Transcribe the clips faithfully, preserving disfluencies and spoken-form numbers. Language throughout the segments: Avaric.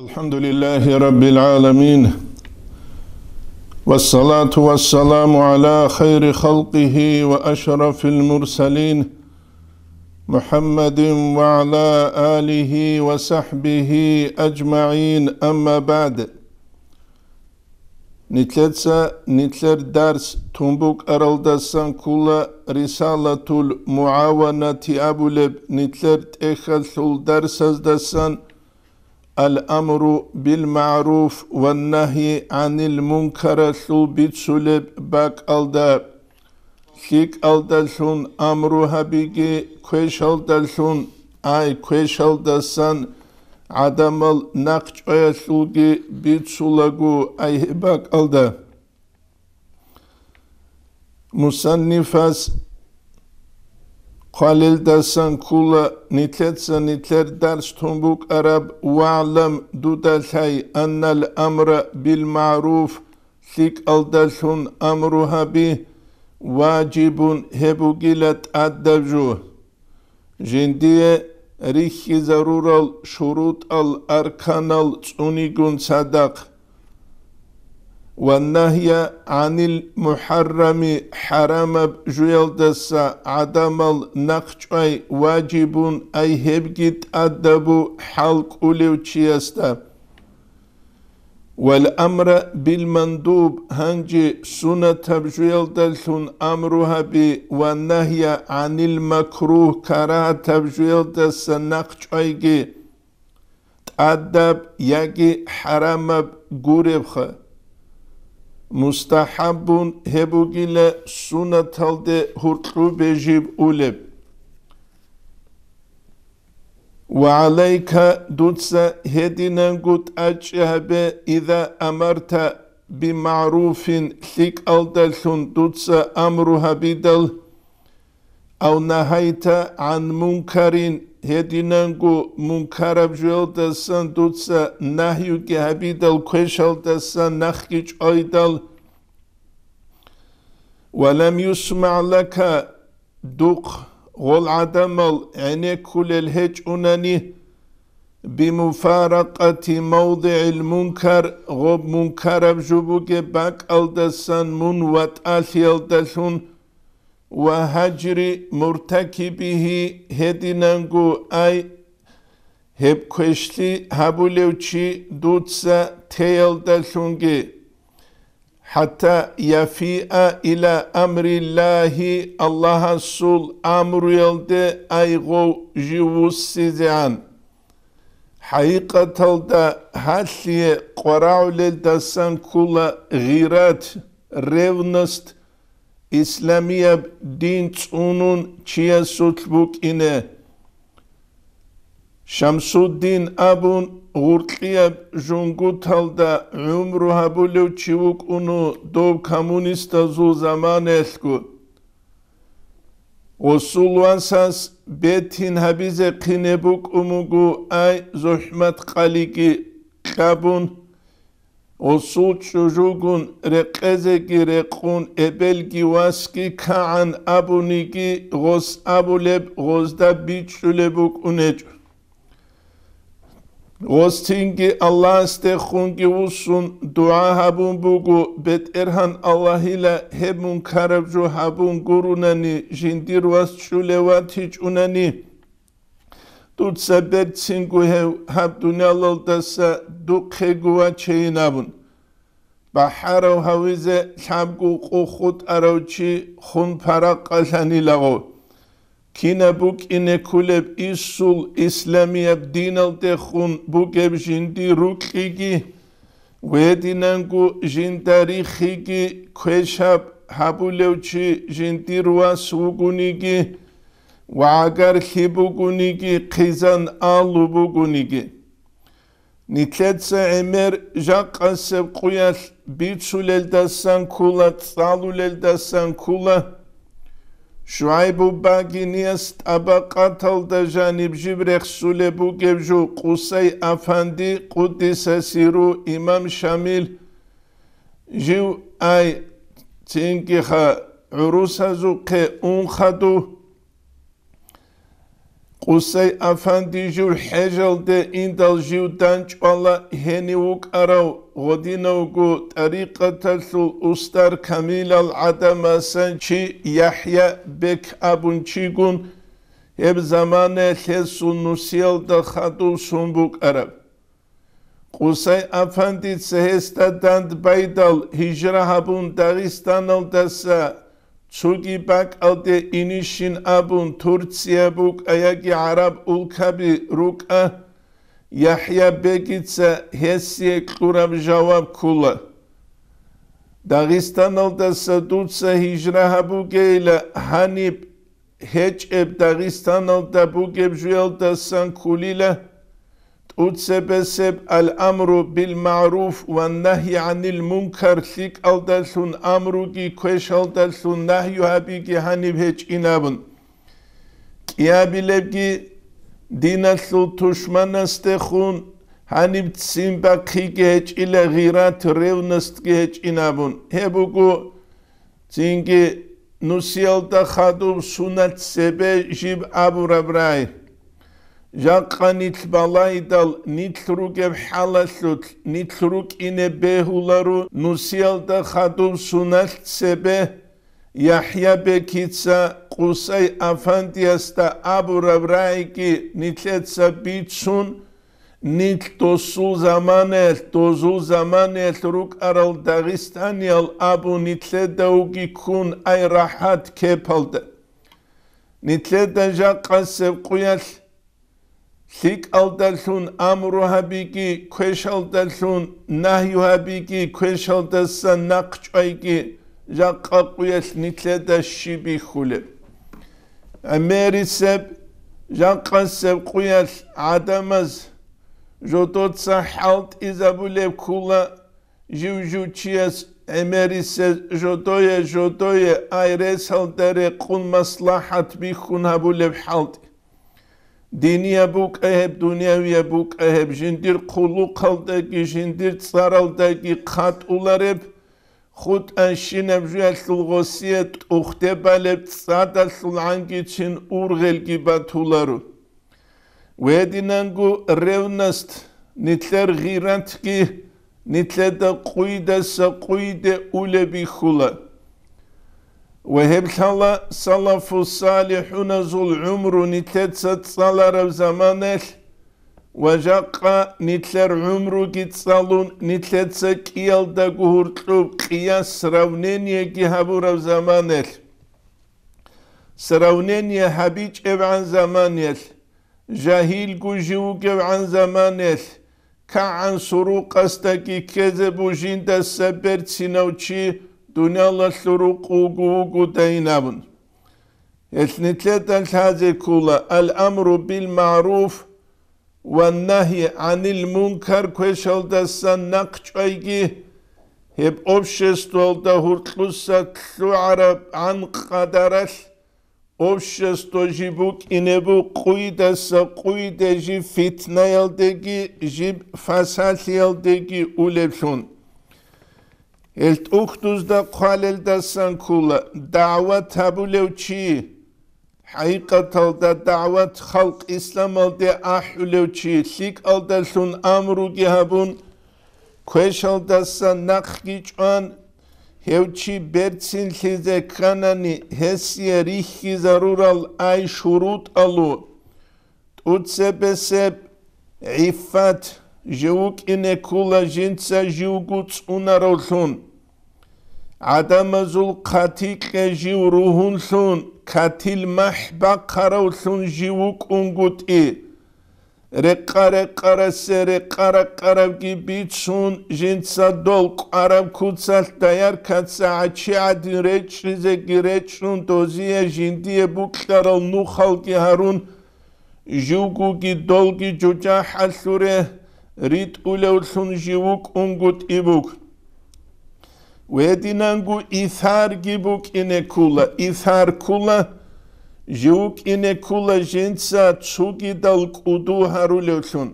الحمد لله رب العالمين، والصلاة والسلام على خير خلقه وأشرف المرسلين، محمد وعلى آله وصحبه أجمعين، أما بعد. Нилъеца нилъер дарс тун букӀаралдасан ккола Рисалатул МугӀаванати абулеб нилъер тӀехьалъул дарсаздасан Ал-амру бил-магӀруф ва нагьи гӀанил мункаралъул бицулеб бакӀалда. ЛъикӀалдалъун амру гьабиги, квешалдалъун, ай, квешалдасан гӀадамал нахъчӀваялъулги бицулаго, ай, гьеб бакӀалда. Мусаннифас хъвалелдасан ккола нилъеца нилъер дарс тун букӀараб: «ВагӀлам, дуда лъай, аннал амра бил-магӀруф, лъикӀалдалъун амру гьаби, важибун, гьеб бугила тӀадаб жо». Жиндие рихьизарурал шурутӀал, арканал цӀунигун цадахъ. «Ва нагья гӀанил мухӀаррами», хӀарамаб жуялдаса гӀадамал нахъчӀвай важибун, ай гьебги тӀадабу хӀал кӀулев чиясда. «Вал амра бил мандуб», гьанже сунатаб жуялдалъун амру гьаби, «ва нагья гӀанил макругь», карагьатаб жуялдаса нахъчӀвайги, тӀадаб яги хӀарамаб гуребха. «Мустахаббун», гьеб бугила сунаталде гьуркьубе жиб улеб. «Ва гӀалайка», дуца гьединанго тӀачӀи гьабе, «иза амарта бимагӀруфин», лъикӀалдалъун дуца амру гьабидал, «ав нагьайта гӀан мункарин», гьединанго мункараб жуялдасан дуца нагьюги гьабидал, квешалдасан нахъги чӀвайдал, «ва лам юсмагӀ лака», духъ гъол гӀадамал гӀенеккулел гьечӀунани, «бимуфаракъати мавдигӀил мункар», гъоб мункараб жо бугеб бакӀалдасан мун ватӀалъиялдалъун, «ва гьажри муртакибигьи», гьединанго, ай, гьеб квешлъи гьабулев чи дуца теялдалъунги. «ХӀатта яфиа иля амриллагьи», Аллагьасул амруялде, ай, гъов жив вуссизегӀан. ХӀакъикъаталда гьалъие къварагӀулелдасан ккола гъират, ревность, исламияб дин цӀунун чиясулъ букӀине. Шамсуддин абун гъуркьияб жунгуталда гӀумру гьабулев чи вукӀуну, дов коммунистазул заманаялъго. Гъосул васас бетин гьабизе хъине букӀун буго, ай, зухӀмат къалиги кьабун, гъосул чӀужугун рекъезеги рекъун, эбелги васги кагӀан абуниги, гъос абулеб гъозда бичӀчӀулеб букӀунечӀо. Гъос цинги Аллагьасдехунги вуссун дугӀа гьабун буго, БетӀергьан Аллагьила, гьеб мункараб жо гьабун гурунани, жиндир вас чӀулев ватичӀунани, дуца берцинго гьев гьаб дуниялалдаса духъего вачейин абун. БахӀарав гьавизе лъабго къо хутӀарав чи хун паракъалъанилаго. Кинаб букӀине кколеб инсул исламияб диналдехун бугеб жиндир рукьиги, гьединанго жинда рихиги, квешаб гьабулев чи жиндир вас вугониги ва гӀагарлъи бугониги, хъизан алу бугониги. Нилъеца гӀемер жакъасеб къуялъ бицулелдасан ккола, цӀалулелдасан ккола. ШугӀайбу багинияс тӀабакъаталда жаниб жиб рехсулеб бугеб жо Къусай афанди, къуддиса сирругьу, имам Шамил, жив, ай, цингиха гӀурусазухъе ун хадув, Къусай-афанди жив хӀежалде индал жив дандчӀвала гьенив вукӀарав гъодинавго тӀарикъаталъул устар камилал гӀадамасан чи ЯхӀя-бек абун чигун, гьеб заманаялъ гьесул нусиялда хадув сон букӀараб. Къусай-афандица гьесда дандбайдал, гьижра гьабун, Дагъистаналдаса цоги бакӀалде инищин абун, Турция букӀа яги гӀараб улкаби рукӀа, ЯхӀя-бегица гьесие кьураб жаваб ккола: «Дагъистаналдаса дуца гьижра гьабугейила, гьаниб гьечӀеб Дагъистаналда бугеб жуялдасан ккулила, тӀуцебесеб ал-амру бил-магӀруф ва нагьи гӀанил мункар, лъикӀалдалъун амруги квешалдалъун нагью гьабиги гьаниб гьечӀин абун. КӀиабилебги диналъул тушманасдехун гьаниб ццин бахъиги гьечӀила, гъират, ревностьги гьечӀин абун». Гьеб буго цинги нусиялда хадуб суналъ цебе жиб абураб рагӀи. Жакъа нилъ балайдал, нилъ ругеб хӀалалъулъ, нилъ рукӀине бегьуларо нусиялда хадуб суналъ цебе, ЯхӀя-бекица Къусай-афандиясда абураб рагӀиги нилъеца бицун, нилъ досул заманаялъ, дозул заманаялъ рукӀарал дагъистаниял абун нилъедавги ккун ай рахӀат кепалда. Нилъеда жакъасеб къуялъ лъикӀалдалъун амру гьабиги, квешалдалъун нагью гьабиги, квешалдаса нахъ чӀвайги, жакъа къуялъ нилъеда щиб бихьулеб? ГӀемерисеб, жакъасеб къуялъ гӀадамаз жодоца хӀалтӀизабулеб ккула, жив-жив чияс гӀемерисез жодое-жодое ай ресалда рекъун маслахӀат бихьун гьабулеб хӀалтӀи. Динияб букӀа гьеб, дунявияб букӀа гьеб, жиндир хъулухъалдаги жиндир цӀаралдаги хъатӀулареб, хутӀанщинаб жуялъул гъосие тӀухде балеб цӀадалъул гӀангичин ургъелги батуларо. Гьединанго ревность, нилъер гъиратги нилъеда къуйдаса къуйде улеб бихьула. Ва гьеб лъала салафу-салихӀуназул гӀумру нилъеца цӀалараб заманалъ ва жакъа нилъер гӀумруги цӀалун, нилъеца кӀиялдаго гьуркьуб къияс, сравнениеги гьабураб заманалъ. Сравнение гьабичӀебгӀан заманаялъ, жагьилго жив вугевгӀан заманаялъ, кагӀан сурукъасдаги ккезе бу жиндаса берцинав чи дуниялалъул рукъ вуго вугодайин абун. Гьелъ нилъеда лъазе ккола: ал-амру бил-магӀруф ва нагьи гӀанил мункар квешалдасан нахъ чӀвайги, гьеб обществоялда гьуркьуса лъугӀарабгӀан къадаралъ, общество жиб букӀине бу къуйдаса къуйде жиб фитнаялдеги жиб фасалъиялдеги улеблъун. Гьел тӀухьдузда хъвалелдасан ккола дагӀват гьабулев чи, хӀакъикъаталда дагӀват халкъ исламалде ахӀулев чи, лъикӀалдалъун амруги гьабун, квешалдаса нахъги чӀван, гьев чи берцинлъизе кканани, гьесие рихьизарурал ай шурутӀалу, тӀуцебесеб гӀиффат, жив вукӀине ккула жинца живго цӀунаравлъун. ГӀадамазул хъатикье жив ругьунлъун, катил махӀ бахъаравлъун жив вукӀунгутӀи. Рекъа-рекъарасе рекъа-рекъарабги бицун, жинца дол кӀвараб куцалъ дояркаца гӀачи гӀадин речӀчӀизеги речӀчӀун, дозие жиндие букьарал нухалги гьарун, живгоги долги жужахӀалъуре ритӀулевлъун жив вукӀунгутӀи буго. Гьединанго исарги букӀине ккула, исар ккула, жив вукӀине ккула жинца цогидал кӀуду гьарулевлъун.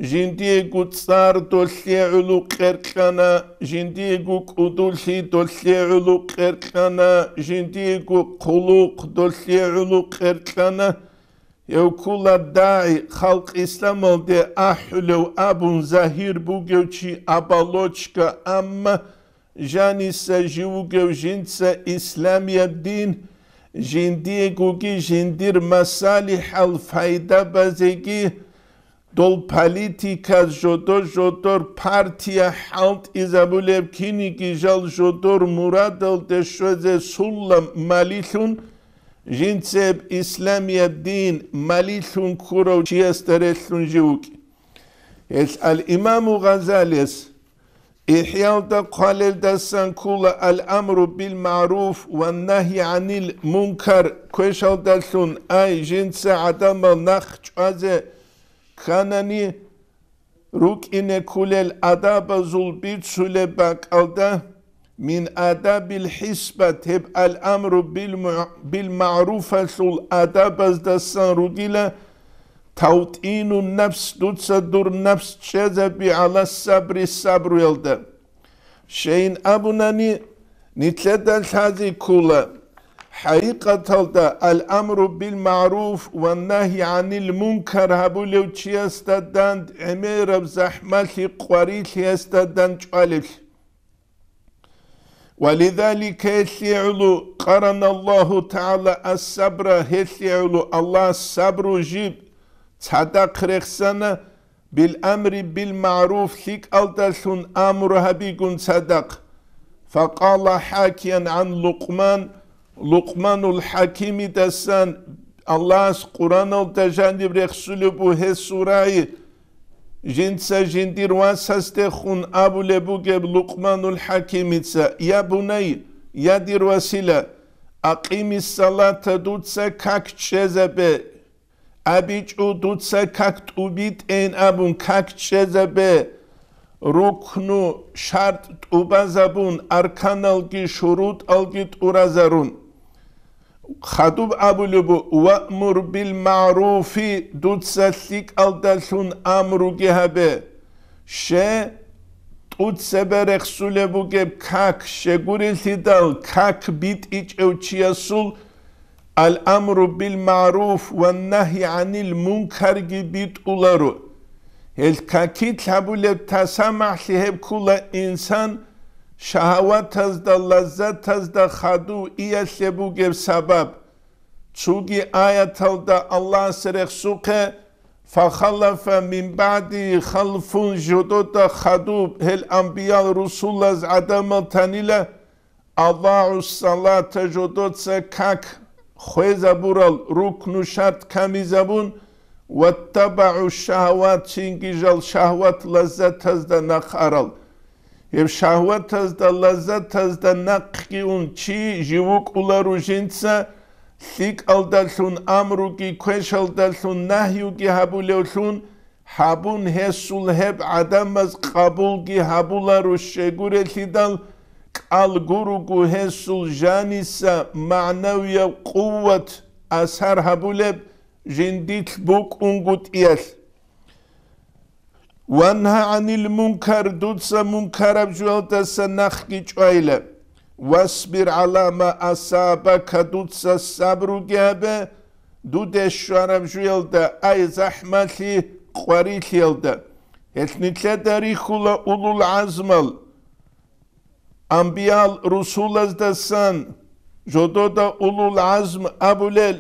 Жиндиего цӀар долъе гӀоло кьеркьана, жиндиего кӀудулъи долъе гӀоло кьеркьана, жиндиего хъулухъ долъе гӀоло кьеркьана. гьев ккола дагӀи, халкъ исламалде ахӀулев абун загьир бугев чи, оболочка, амма жаниса жив вугев жинца исламияб дин, жиндиегоги жиндир масалихӀал пайда базеги, дол политиказ жодор-жодор партия хӀалтӀизабулеб, киниги жал жодор мурадалде щвезе сула малилъун, жинцеб исламияб дин малилъун ккурав чиясда релълъун жив вукӀи. Гьелъ ал-Имаму Гъазалияс ИхӀялда хъвалелдасан ккола: «Ал-амру бил-магӀруф ва нагьи гӀанил-мункар» квешалдалъун, ай, жинца гӀадамал нахъ чӀвазе кканани, рукӀине кколел адабазул бицулеб бакӀалда, мин адабил хӀисбат, гьеб ал-амру бил-му-, бил-магӀруфалъул адабаздасан ругила, тавтӀину нафс, дуца дур нафс чӀезаби гӀала сабри, сабруялда. Щайин абунани, нилъеда лъазе ккола, хӀакъикъаталда ал-амру бил-магӀруф ва нагьи гӀанил-мункар гьабулев чиясда дандгӀемераб захӀмалъи къварилъиялда дандчӀвалеблъи. Ва лизалика, гьелъие гӀоло, къарана Аллагьу ТагӀала ас-сабра, гьелъие гӀоло Аллагьас сабру жиб цадахъ рехсана, бил-амри бил-магӀруф, лъикӀалдалъун амру гьабигун цадахъ. Факъала хӀакиян гӀан Лукъман, Лукъманул ХӀакимидасан, Аллагьас Къуръаналда жаниб рехсулеб бугеб сурай, жинца жиндир васасдехун абулеб бугеб Лукъманул ХӀакимица: «Я бунай, я дир васила, акъимис-салата, дуца как чӀезабе, абичӀо, дуца как тӀубитӀейин абун как чӀезабе, рукну, шартӀ тӀубазабун, арканалги шурутӀалги тӀуразарун». Хадуб абулеб бу: «Ваъмур бил-магӀруфи, дуца лъикӀалдалъун амруги гьабе». Ще тӀуцебе рехсулеб бугеб как, щегурелъидал как битӀичӀев чиясул ал-амру бил-магӀруф ва нагьи гӀанил-мункарги битӀуларо. Гьел какилъ гьабулеб тасамахӀлъи гьеб ккола инсан шагьаватазда, лаззатазда хадув иялъе бугеб сабаб. Цоги аяталда Аллагьас рехсухъе: «Фахалафа мин баъдигьи халфун», жодода хадуб, гьел амбиял-русулаз гӀадамал танила, «адагӀу салата», жодоца как хвезабурал, рукну шартӀ камизабун, «ваттабагӀу шагьават», цинги жал шагьват лаззатазда нахъ арал. Гьеб шагьватазда, лаззатазда нахъги ун чи жив вукӀула ружинца, лъикӀалдалъун амруги, квешалдалъун нагьюги гьабулевлъун, гьабун гьесул гьеб гӀадамаз къабулги гьабуларо щегурелъидал, кӀал гуруго гьесул жаниса магӀнавияв къуват асар гьабулеб жиндилъ букӀунгутӀиялъ. «Вангьа гӀанил мункар», дуца мункараб жуялдаса нахъги чӀвайла. «Васбир гӀала ма асабака», дуца сабруги гьабе, дуде щвараб жуялда, ай захӀмалъи къварилъиялда. Гьелъ нилъеда рихьула улул гӀазмал, амбиял-русулаздасан, жодода улул гӀазм абулел,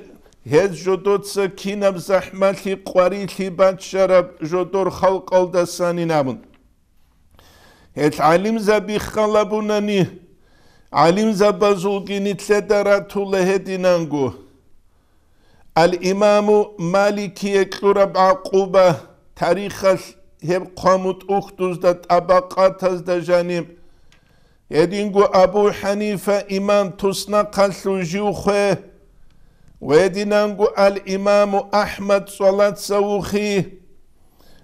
гьез жодоца кинаб захӀмалъи къварилъи баччараб жодор халкъалдасанин абун. Гьел гӀалимзаби халабунани, гӀалимзабазулги нилъеда ратула гьединанго. Ал-Имаму Маликие кьураб гӀакъуба, тарихалъ гьеб хъвамут ухдузда, тӀабакъатазда жаниб, гьединго Абу ХӀанифа имам туснахъалъув жив хве, ва гьединанго ал-Имаму АхӀмад цӀалаца вухи,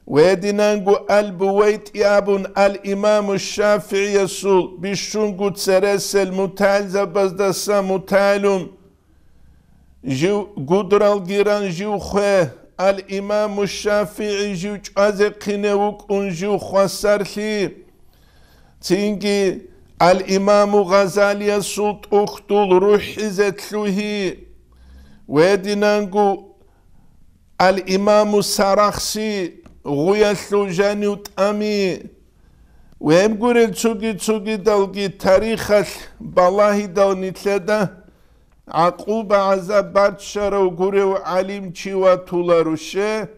ва гьединанго ал-БувайтӀи абун ал-Имаму ШафигӀиясул бищунго цересел мутагӀилзабаздаса мутагӀилун, жив гудралги ран жив хве, ал-Имаму ШафигӀи жив чӀвазехъине вукӀун жив хвасарлъи, цинги ал-Имаму Гъазалиясул тӀухьдул рухӀизе лъугьи, ва гьединанго Ал-Имаму Сарахси, гъуялъул жанив тӀами, ва гьеб гурел цоги-цогидалги тарихалъ балагьидал нилъеда гӀакъуба-гӀазаб баччарав гурев гӀалимчи ватуларо, ще,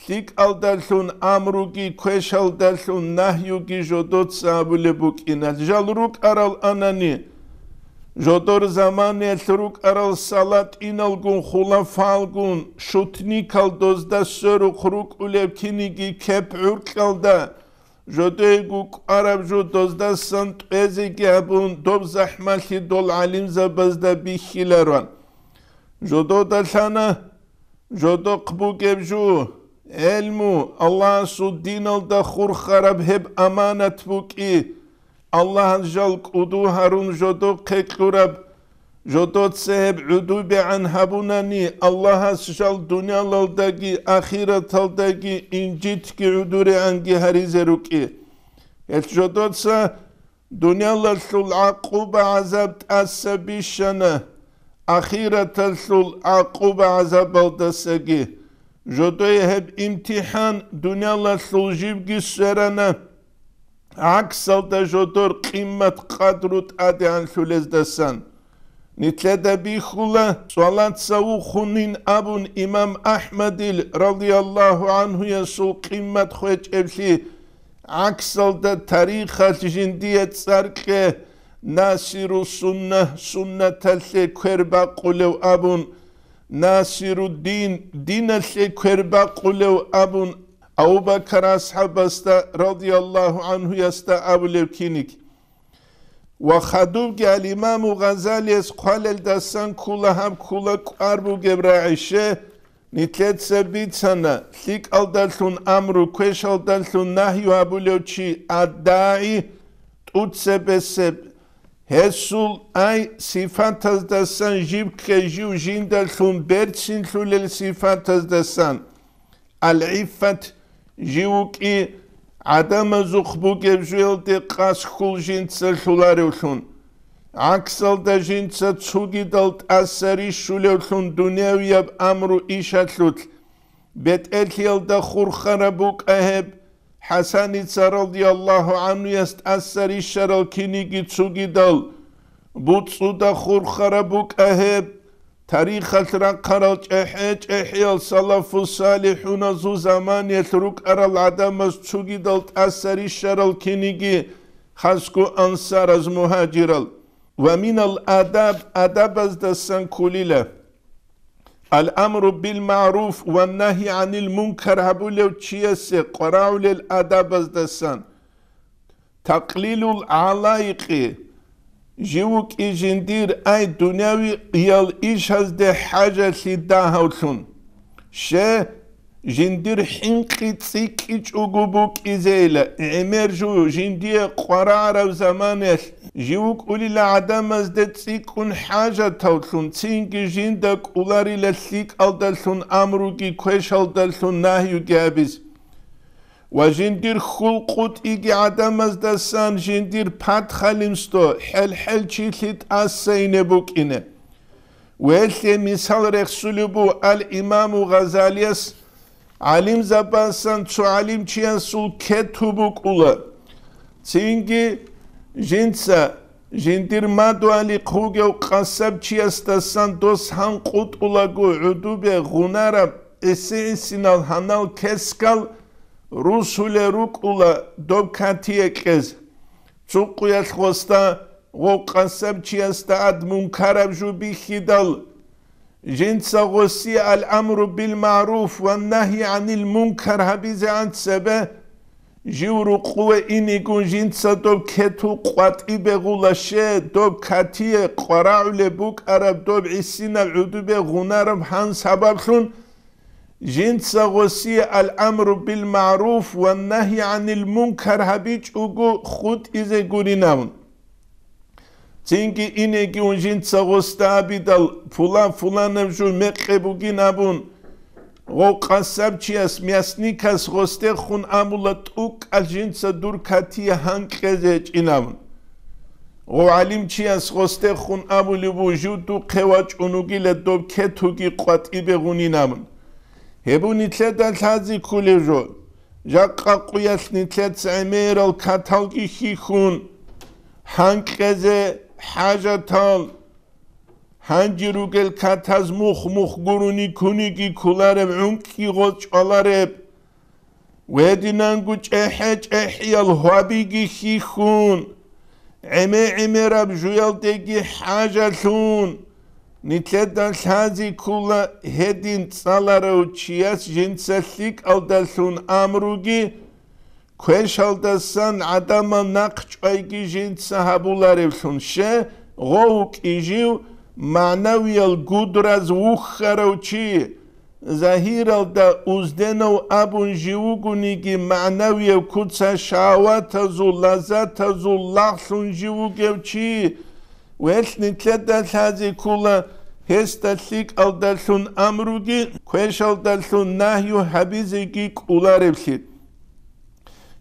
лъикӀалдалъун амруги, квешалдалъун нагьюги жодоца абулеб букӀина. Жал рукӀарал анани, жодор заманаялъ рукӀарал салатӀиналгун, хулафалгун, шутникал дозда сверухъ рукӀулеб киниги кеп гӀуркьалда, жодойго кӀвараб жо доздасан тӀвезеги абун, доб захӀмалъи дол гӀалимзабазда бихьиларо. Жодода лъана, жодохъ бугеб жо, гӀелму, Аллагьасул диналда хурхараб гьеб аманат букӀи, Аллагьас жал кӀуду гьарун жодохъе кьураб, жодоца гьеб гӀудубегӀан гьабунани, Аллагьас жал дуниялалдаги ахираталдаги инжитги гӀудурегӀанги гьаризе рукӀи. Гьелъ жодоца дуниялалъул гӀакъуба-гӀазаб тӀаса бищана, ахираталъул гӀакъуба-гӀазабалдасаги. Жодое гьеб имтихӀан дуниялалъул живги сверана, гӀаксалда жодор къимат-къадру тӀадегӀанлъулездасан. Нилъеда бихьула, цӀалаца вухунин абун имам АхӀмадил, радияллагьу гӀанхуясул, къимат хвечӀеблъи, гӀаксалда тарихалъ жиндие цӀар кье Насиру Сунна, суннаталъе квер бакъулев абун, Насируддин, диналъе квер бакъулев абун, Абу Бакар асхӀабасда, радияллагьу гӀанхуясда, абулев киник. Ва хадубги ал-Имаму Гъазалияс хъвалелдасан ккула гьаб ккула кӀвар бугеб рагӀище, нилъеца бицана, лъикӀалдалъун амру, квешалдалъун нагью гьабулев чи, аддагӀи, тӀуцебесеб, гьесул ай сифатаздасан жиб ккей, жив жиндалъун берцинлъулел сифатаздасан. Ал-гӀиффат, жив вукӀи гӀадамазухъ бугеб жуялде къасхьул жинца лъуларевлъун, гӀаксалда жинца цугидал тӀаса рищулевлъун дунявияб амру ишалъулъ, бетӀерлъиялда хурхараб букӀа гьеб, ХӀасаница радияллагьу гӀанхуяс тӀаса рищарал киниги цугидал, буцӀуда хурхараб букӀа гьеб, тарихалъ рахъарал чӀехӀе-чӀехӀиял салафу-салихӀуназул заманиялъ рукӀарал гӀадамаз цугидал тӀаса рищарал киниги, хасго ансараз, мугьажирал. Ва минал адаб, адабаздасан кколила. Ал-амру бил-магӀруф ва нагьи гӀанил-мункар гьабулев чиясе къварагӀулел адабаздасан. Такълилул гӀалайкъи, жив вукӀи жиндир ай дунявиял ишазде хӀажалъи дагьавлъун. Ще, жиндир хӀинкъи цӀикӀкӀичӀого букӀизейила, гӀемер жо жиндие къварагӀараб заманаялъ жив вукӀулила гӀадамазде цӀикӀкӀун хӀажатавлъун, цинги жинда кӀоларила лъикӀалдалъун амруги квешалдалъун нагьюги гьабиз. Ва жиндир хьул къутӀиги гӀадамаздасан жиндир пад-халимсто хӀел-хӀел чилъи тӀаса ине букӀине. Велъе мисал рехсулеб буго ал-Имаму Гъазалияс, гӀалимзабасан цо гӀалимчиясул кету букӀула. Цинги жинца жиндир мадугьалихъ вугев къасабчиясдасан дос гьанкъутӀулаго гӀудубе гъунараб гӀиси-гӀисинал гьанал кескал русулел рукӀула доб катие кьез. Цукъуялъ гъосда гъов къасабчиясда ад мункараб жо бихьидал, жинца гъосие ал-амру бил-магӀруф ва нагьи гӀанил-мункар гьабизегӀан цебе, жив рукъуве инигун жинца доб кету къватӀибе гъула, ще, доб катие къварагӀулеб букӀараб доб гӀисинаб гӀудубе гъунараб гьан сабаблъун, жинца гъосие ал-амру бил-магӀруф ва нагьи гӀанил-мункар гьабичӀого хутӀизе гуринавун. Цинги инеги ун жинца гъосда абидал, пулан-пуланаб жо мекъи бугин абун, гъов къасабчияс, мясникас гъосдехун амула тӀукӀал жинца дур катие гьанкьезе гьечӀин абун. Гъов гӀалимчияс гъосдехун абулеб буго жив духъе вачӀун вугила доб кетуги къватӀибе гъунин абун. Гьеб нилъеда лъази кколеб жо, жакъа къуялъ нилъеца гӀемерал каталги хьихьун, гьанкьезе хӀажатал, гьанже ругел катаз мух-мух гурони куниги кколареб, гӀункӀкӀи гъоз чӀвалареб. Гьединанго чӀехӀе-чӀехӀиял гьвабиги хьихьун, гӀеме-гӀемераб жуялдеги хӀажалъун, нилъеда лъази ккола гьедин цӀаларав чияс жинца лъикӀалдалъун амруги, квешалдасан гӀадамал нахъчӀвайги жинца гьабулареблъун, щай гъов вукӀин жив, магӀнавиял гудраз вухьарав чи, загьиралда узденав абун жив вугониги, магӀнавияб куца шагьаватазул, лаззатазул лагълъун жив вугев чи, гьелъ нилъеда лъази ккола гьесда лъикӀалдалъун амруги, квешалдалъун нагью гьабизеги кӀолареблъи.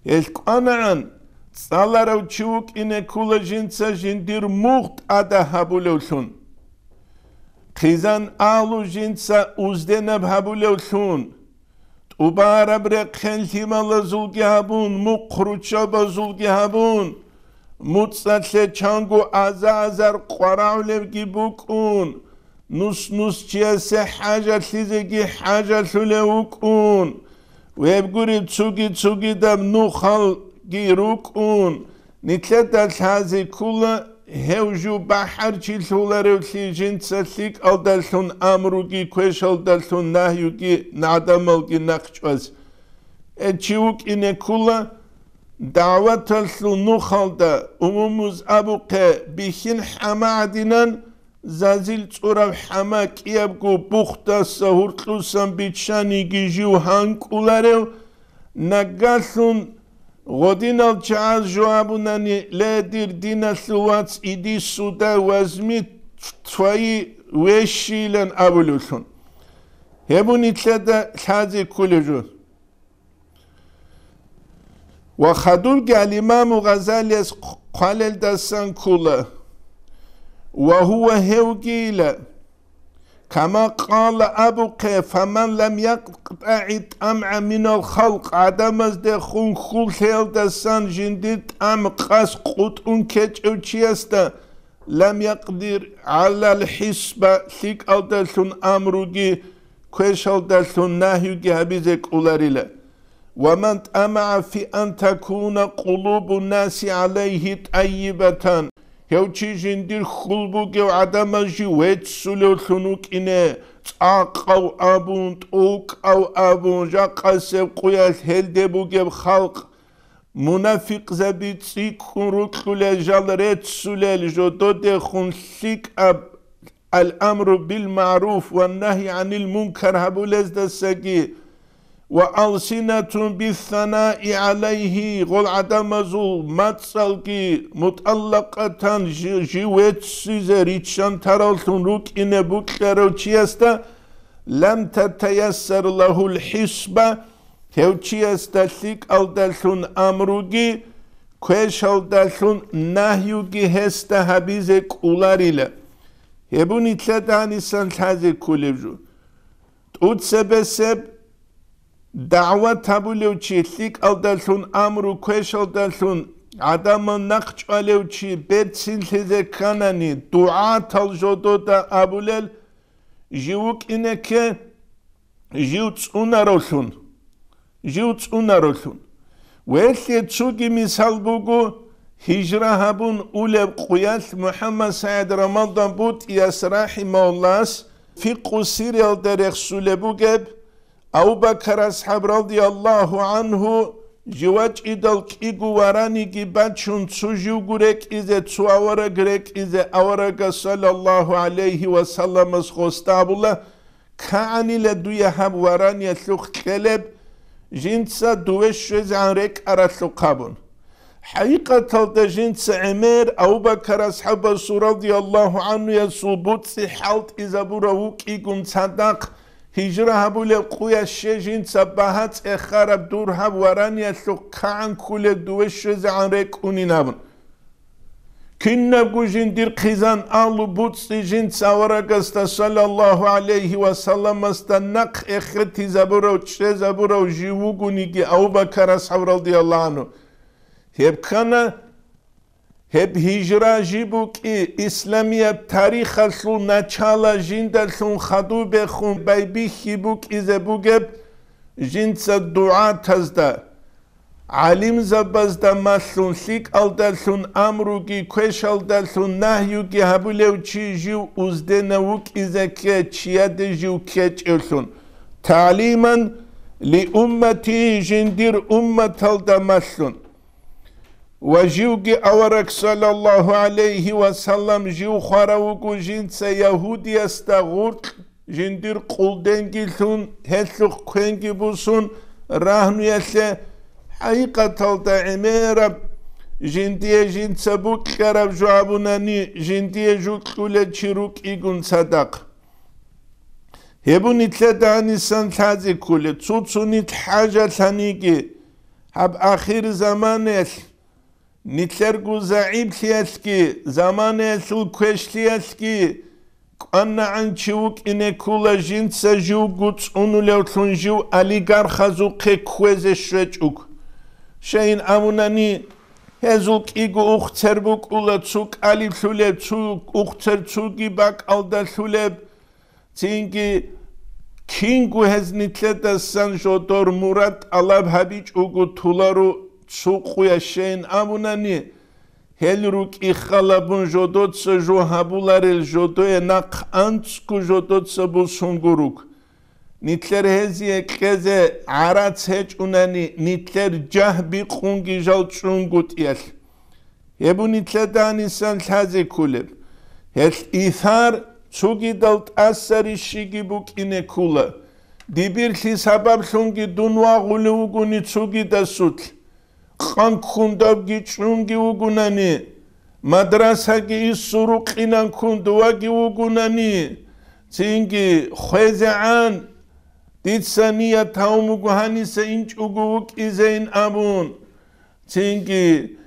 Гьелъ кӀванагӀан, цӀаларав чи вукӀине ккола жинца жиндир мугъ тӀада гьабулевлъун. Хъизан агьлу жинца узденаб гьабулевлъун, тӀубараб рехъен лъималазулги гьабун, мухъ руччабазулги гьабун, муцӀалъе чанго аза-азар къварагӀулевги букӀун, нус-нус чиясе хӀажалъизеги хӀажалъулев вукӀун, вебгури цуги-цугидаб нухалги рукӀун, нилъеда лъази ккола гьев жив бахӀарчилъуларевлъи жинца лъикӀалдалъун амруги, квешалдалъун нагьюги, гӀадамалги нахъчӀваз. Гьев чи вукӀине ккола дагӀваталъул нухалда, умумуз абухъе, бихьин хӀама гӀадинан, зазил цӀураб хӀама кӀиябго бухдаса гьуркьусан биччаниги жив гьанкӀуларев, нагагьлъун гъодинал чагӀаз жо абунани: «Ле, дир диналъул вац, иди сюда, возьми твои вещи», — илан абулевлъун. Гьеб нилъеда лъазе кколеб жо. Ва хадубги ал-Имаму Гъазалияс хъвалелдасан ккола: «Ва гьува», гьевгийила, «кама къала», абухъе: «Фаман лам якътагӀи тӀамгӀа минал халкъ», гӀадамаздехун хьул лъеялдасан жиндир тӀам къас къутӀун ккечӀев чиясда, «лам якъдир гӀалал хӀисба», лъикӀалдалъун амруги, квешалдалъун нагьюги гьабизе кӀоларила. «Ва ман тӀамагӀа фи ан такуна къулубу наси гӀалайгьи тӀайибатан», гьев чи жиндир хьул бугев гӀадамаз жив веццулевлъун вукӀине, цӀакъав абун, тӀокӀав абун, жакъасеб къуялъ гьелде бугеб халкъ, мунафикъзаби цӀикӀкӀун рукьулел жал реццулел жододехун лъикӀаб ал-амру бил-магӀруф ва нагьи гӀанил мункар гьабулездасаги, ва алсинатун биссанаи гӀалайгьи, гъол гӀадамазул мацӀалги мутӀаллакъатан жи-, жив веццизе риччан тараллъун рукӀине букьарав чиясда, лам татаяссар лагьул хӀисба, гьев чиясда лъикӀалдалъун амруги, квешалдалъун нагьюги гьесда гьабизе кӀоларила. Гьеб нилъеда гьанисан лъазе кколеб жо. ТӀуцебесеб дагӀват гьабулев чи, лъикӀалдалъун амру, квешалдалъун гӀадамал нахъчӀвалев чи берцинлъизе кканани, дугӀатал жодода абулел, жив вукӀине кке, жив цӀунаравлъун, жив цӀунаравлъун. Велъе цоги мисал буго, гьижра гьабун улеб къуялъ МухӀаммад СагӀид Рамадан БутӀияс рахӀимагьуллагьас фикъу сирриялда рехсулеб бугеб, Абу Бакар асхӀаб радияллагьу гӀангьу жив вачӀидал кӀиго вараниги бачун, цо живго рекӀизе, цо авараг рекӀизе, аварагас саллаллагьу гӀалайгьи ва салламас гъосда абула: «КигӀанила дуе гьаб вараниялъухъ кьелеб, жинца дуве щвезегӀан рекӀаралъухъ», абун. ХӀакъикъаталда жинца гӀемер Абу Бакар асхӀабасул радияллагьу гӀангьуясул буцӀи хӀалтӀизабурав вукӀигун цадахъ, гьижра гьабулеб къуялъ жинца багьа цӀехараб дур гьаб вараниялъухъ кигӀан кколеб дуве щвезегӀан рекӀунин абун. Кинабго жиндир хъизан, агьлу, боцӀи жинца аварагасда, саллаллагьу гӀалайгьи ва салламасда, нахъ эхетизабурав, чӀезабурав жив вугониги Абу Бакар асхӀаб радияллагьу гӀангьу. Гьеб ккана, гьеб гьижра жиб букӀи, исламияб тарихалъул начала жиндалъун хадубехун байбихьи букӀизе бугеб жинца дугӀатазда, гӀалимзабазда малъун, лъикӀалдалъун амруги, квешалдалъун нагьюги гьабулев чи жив узденав вукӀизе кке, чияде жив ккечӀевлъун, тагӀлиман ли уммати, жиндир умматалда малъун. Ва живги авараг, саллаллагьу гӀалайгьи ва саллам, жив хварав вуго жинца ягьудиясда гъуркь, жиндир къулденги лъун, гьелъухъ квенги бусун рагьнуялъе. ХӀакъикъаталда гӀемераб, жиндие жинца букьараб жо абунани, жиндие жо кьулев чи рукӀигун цадахъ. Гьеб нилъеда гьанисан лъазе кколеб, цо-цо нилъ хӀажалъаниги, гьаб ахир заманаялъ, нилъерго загӀиплъиялъги, заманаялъул квешлъиялъги кӀванагӀан чи вукӀине ккола, жинца живго цӀунулевлъун жив олигархазухъе кквезе щвечӀого. Щайин абунани, гьезул кӀиго ухцер букӀула, цо кӀалиблъулеб, цо ухцер цоги бакӀалдалъулеб. Цинги кинго гьез нилъедасан жодор мурад тӀалаб гьабичӀого толаро цо къуя, щайин абунани, гьел рукӀи халабун жодоца жо гьабуларел, жодое нахъ анцӀго жодоца бусунго руго. Нилъер гьезие кьезе гӀарац гьечӀунани, нилъер жагь бикъунги жал чӀунгутӀиялъ. Гьеб нилъеда гьанисан лъазе кколеб. Гьелъ исар цогидал тӀаса рищиги букӀине ккола. Дибирлъи сабаблъунги дун вагъулев вугони цогидасулъ. Къан ккундабги чӀунги вугунани, мадрасаги иссурукъинан ккун дуваги вугунани, цинги хвезегӀан, дица ният гьавун буго гьаниса инчӀого вукӀизейин абун. Цинги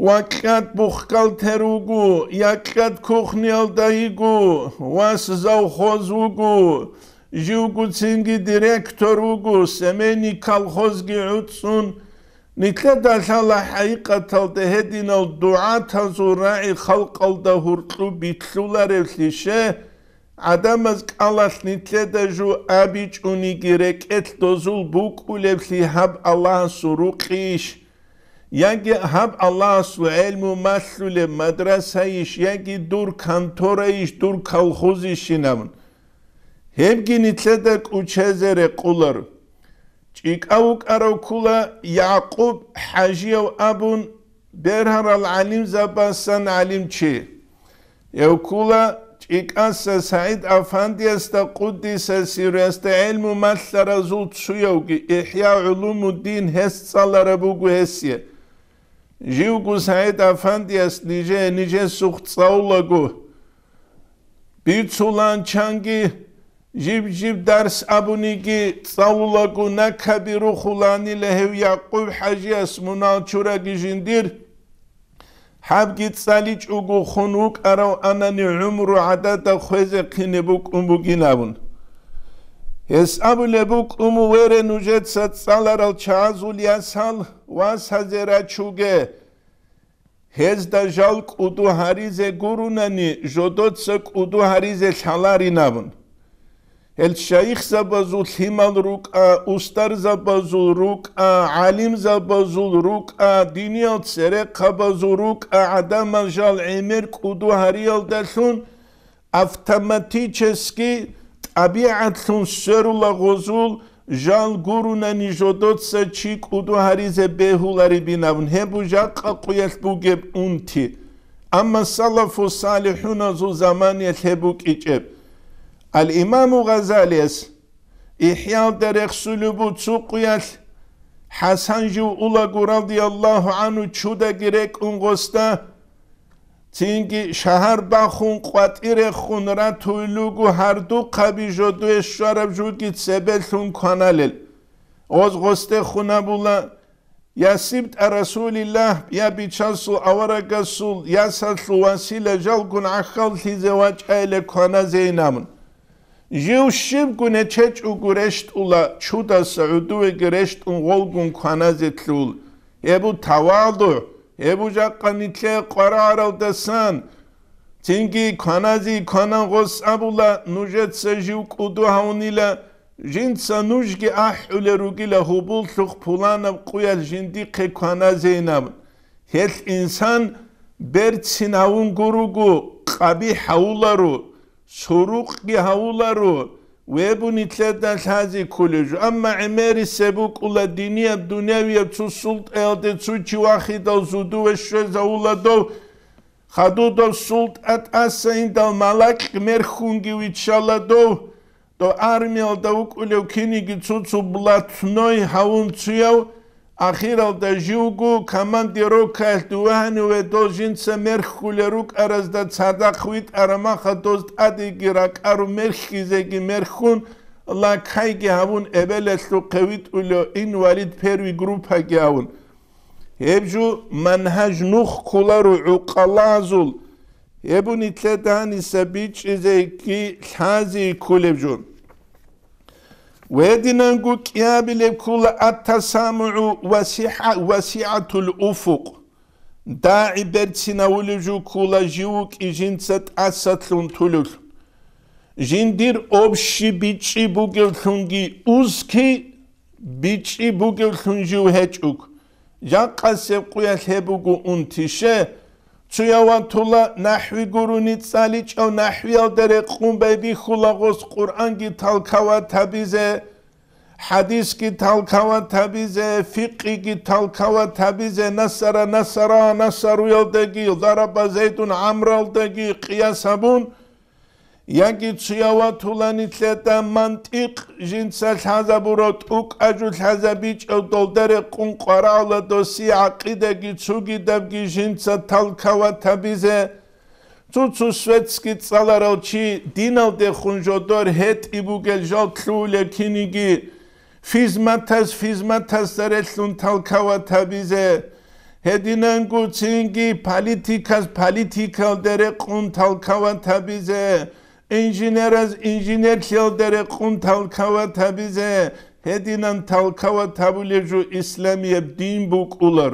вакьад бухгалтер вуго, якьад кухниялда йиго, вас завхоз вуго, живго цинги директор вуго, семейный колхозги гӀуцӀцӀун. Нилъеда лъала хӀакъикъаталда гьединал дугӀатазул рагӀи халкъалда гьуркьу битлъуларевлъише, гӀадамаз кӀалалъ нилъеда жо абичӀониги рекӀелъ дозул букӀулеблъи гьаб Аллагьасул рукъийищ? Яги гьаб Аллагьасул гӀелму малъулеб мадрасайищ, яги дур конторайищ, дур колхозищин абун? Гьебги нилъеда кӀучезе рекъолар. ЧӀикӀав вукӀарав ккола Якъуб ХӀажияв абун, бергьарал гӀалимзабасан гӀалимчи. Гьев ккола ЧӀикӀаса СагӀид Афандиясда, къуддиса сирруясда, гӀелму малъаразул цуявги, ИхӀя гӀулумуддин гьес цӀалараб буго гьесие. Живго СагӀид Афандияс нижее нижесухъ цӀалулаго бицулан чанги, жиб-жиб дарс абуниги цӀалулаго накаби рухуланила гьев Якъуб ХӀажияс мунагьал чураги жиндир, гьабги цӀаличӀого хун вукӀарав анани гӀумру гӀадада хвезехъине букӀун бугин абун. Гьес абулеб букӀун, вере нужеца цӀаларал чагӀазул ясал, васазе рачуге. Гьезда жал кӀуду гьаризе гурунани, жодоца кӀуду гьаризе лъаларин абун. Гьел шайихзабазул лъимал рукӀа, устарзабазул рукӀа, гӀалимзабазул рукӀа, диниял церехъабазул рукӀа, гӀадамал жал гӀемер кӀуду гьариялдалъун автоматически, тӀабигӀатлъун сверула гъозул, жал гурунани жодоца чи кӀуду гьаризе бегьуларебин абун, гьеб жакъа къуялъ бугеб унти. Амма салафу салихӀуназул заманиялъ гьеб букӀичӀеб. Ал-Имаму Гъазалияс ИхӀялда рехсулеб буго цо къуялъ, ХӀасан жив улаго, радияллагьу гӀангьу, чудаги рекӀун гъосда, цинги шагьар бахун къватӀирехун ратулел руго гьардухъаби жодое щвараб жуги цебелъун кваналел. Гъоз гъосдехун абула, Я сибтӀа Расулиллагь, я Бичасул аварагасул ясалъул васила жалгун гӀахьаллъизе вачӀайилан кваназейин абун. Жив щибго нечечӀого рещтӀула, чудаса гӀодовеги рещтӀун гъолгун кваназе лъул. Гьеб бу тавадугӀ, гьеб бу жакъа нилъее къварагӀаралдасан. Цинги кваназе кванан гъос абула, нужеца жив кӀуду гьавунила, жинца нужги ахӀулел ругила гьубуллъухъ пуланаб къуялъ жиндихъе кваназейин абун. Гьелъ инсан берцин гьавун гуруго, къабихӀ гьавуларо, сурукъги гьавуларо, гьеб бу нилъеда лъазе кколеб жо. Амма гӀемерисеб букӀула динияб, дунявияб цо султӀаялде цо чи вахидал зодове щвезавула дов, хадуб дов султӀа тӀаса индал малакь мерхьунги виччала дов, дов армиялда вукӀулев киниги цо-цо блатной гьавун цуяв, ахиралда живго командировкаялъ дуве гьаниве дол жинца мерхьулел рукӀаразда цадахъ витӀараб маха доз тӀадеги ракӀару мерхьизеги мерхьун, лакайги гьавун эбелалъухъе витӀулев инвалид первый группаги гьавун. Гьеб жо мангьаж нух кколаро гӀукъалазул, гьеб бу нилъеда гьаниса бичӀчӀизеги лъазе кколеб жо. Гьединанго кӀиабилеб ккола ат-тасамугӀу васигӀа-, васигӀатул уфукъ. ДагӀи берцинавулев жо ккола жив вукӀи жинца тӀасалъун тулев. Жиндир общий бичӀчӀи бугевлъунги узкий бичӀчӀи бугевлъун жив гьечӀуг. Жакъасеб къуялъ гьеб буго унтише, цуяв ватула нахӀви гурони цӀаличӀав нахӀвиялда рекъун байбихьула гъос Къуръанги талкават гьабизе, хӀадисги талкават гьабизе, фикъиги талкават гьабизе, насара насара насаруялдаги, дараба Зайдун ГӀамралдаги къияс гьабун, яги цуяв ватула нилъеда мантикъ жинца лъазабурав тӀукӀа жо лъазабичӀав долда рекъун къварагӀула досие гӀакъидаги цугидабги жинца талкават гьабизе, цо-цо светски цӀаларал чи диналдехун жодор гьетӀи бугел жал лъугьула киниги, физматас физматасда релълъун талкават гьабизе, гьединанго цинги политикас политикалда рекъун талкават гьабизе, инженерас инженерлъиялда рекъун талкават гьабизе, гьединан талкават гьабулеб жо исламияб дин букӀулар.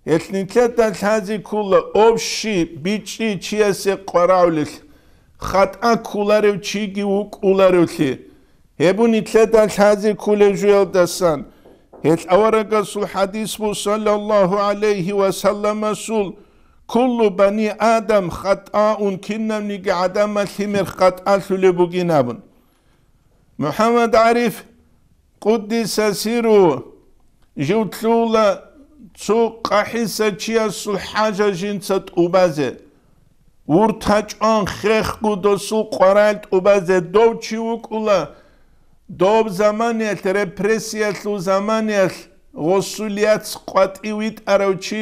Гьелъ нилъеда лъазе ккола общий бичӀчӀи чиясе къварагӀулелъ, хатӀа кколарев чиги вукӀуларевлъи. Гьеб бу нилъеда лъазе кколеб жуялдасан. Гьелъ аварагасул хӀадис бу, саллаллагьу гӀалайгьи ва салламасул: «Куллу бани Адам хатӀаун», кинабниги гӀадамал лъимер хатӀалъулеб бугин абун. МухӀаммад ГӀариф, къуддиса сирругьу, жив лъугьула цо къахӀиса чиясул хӀажа жинца тӀубазе. Вурт гьачӀван хехго досул къварал тӀубазе дов чи вукӀула, доб заманиялъ, репрессиялъул заманиялъ, гъосул яц къватӀив витӀарав чи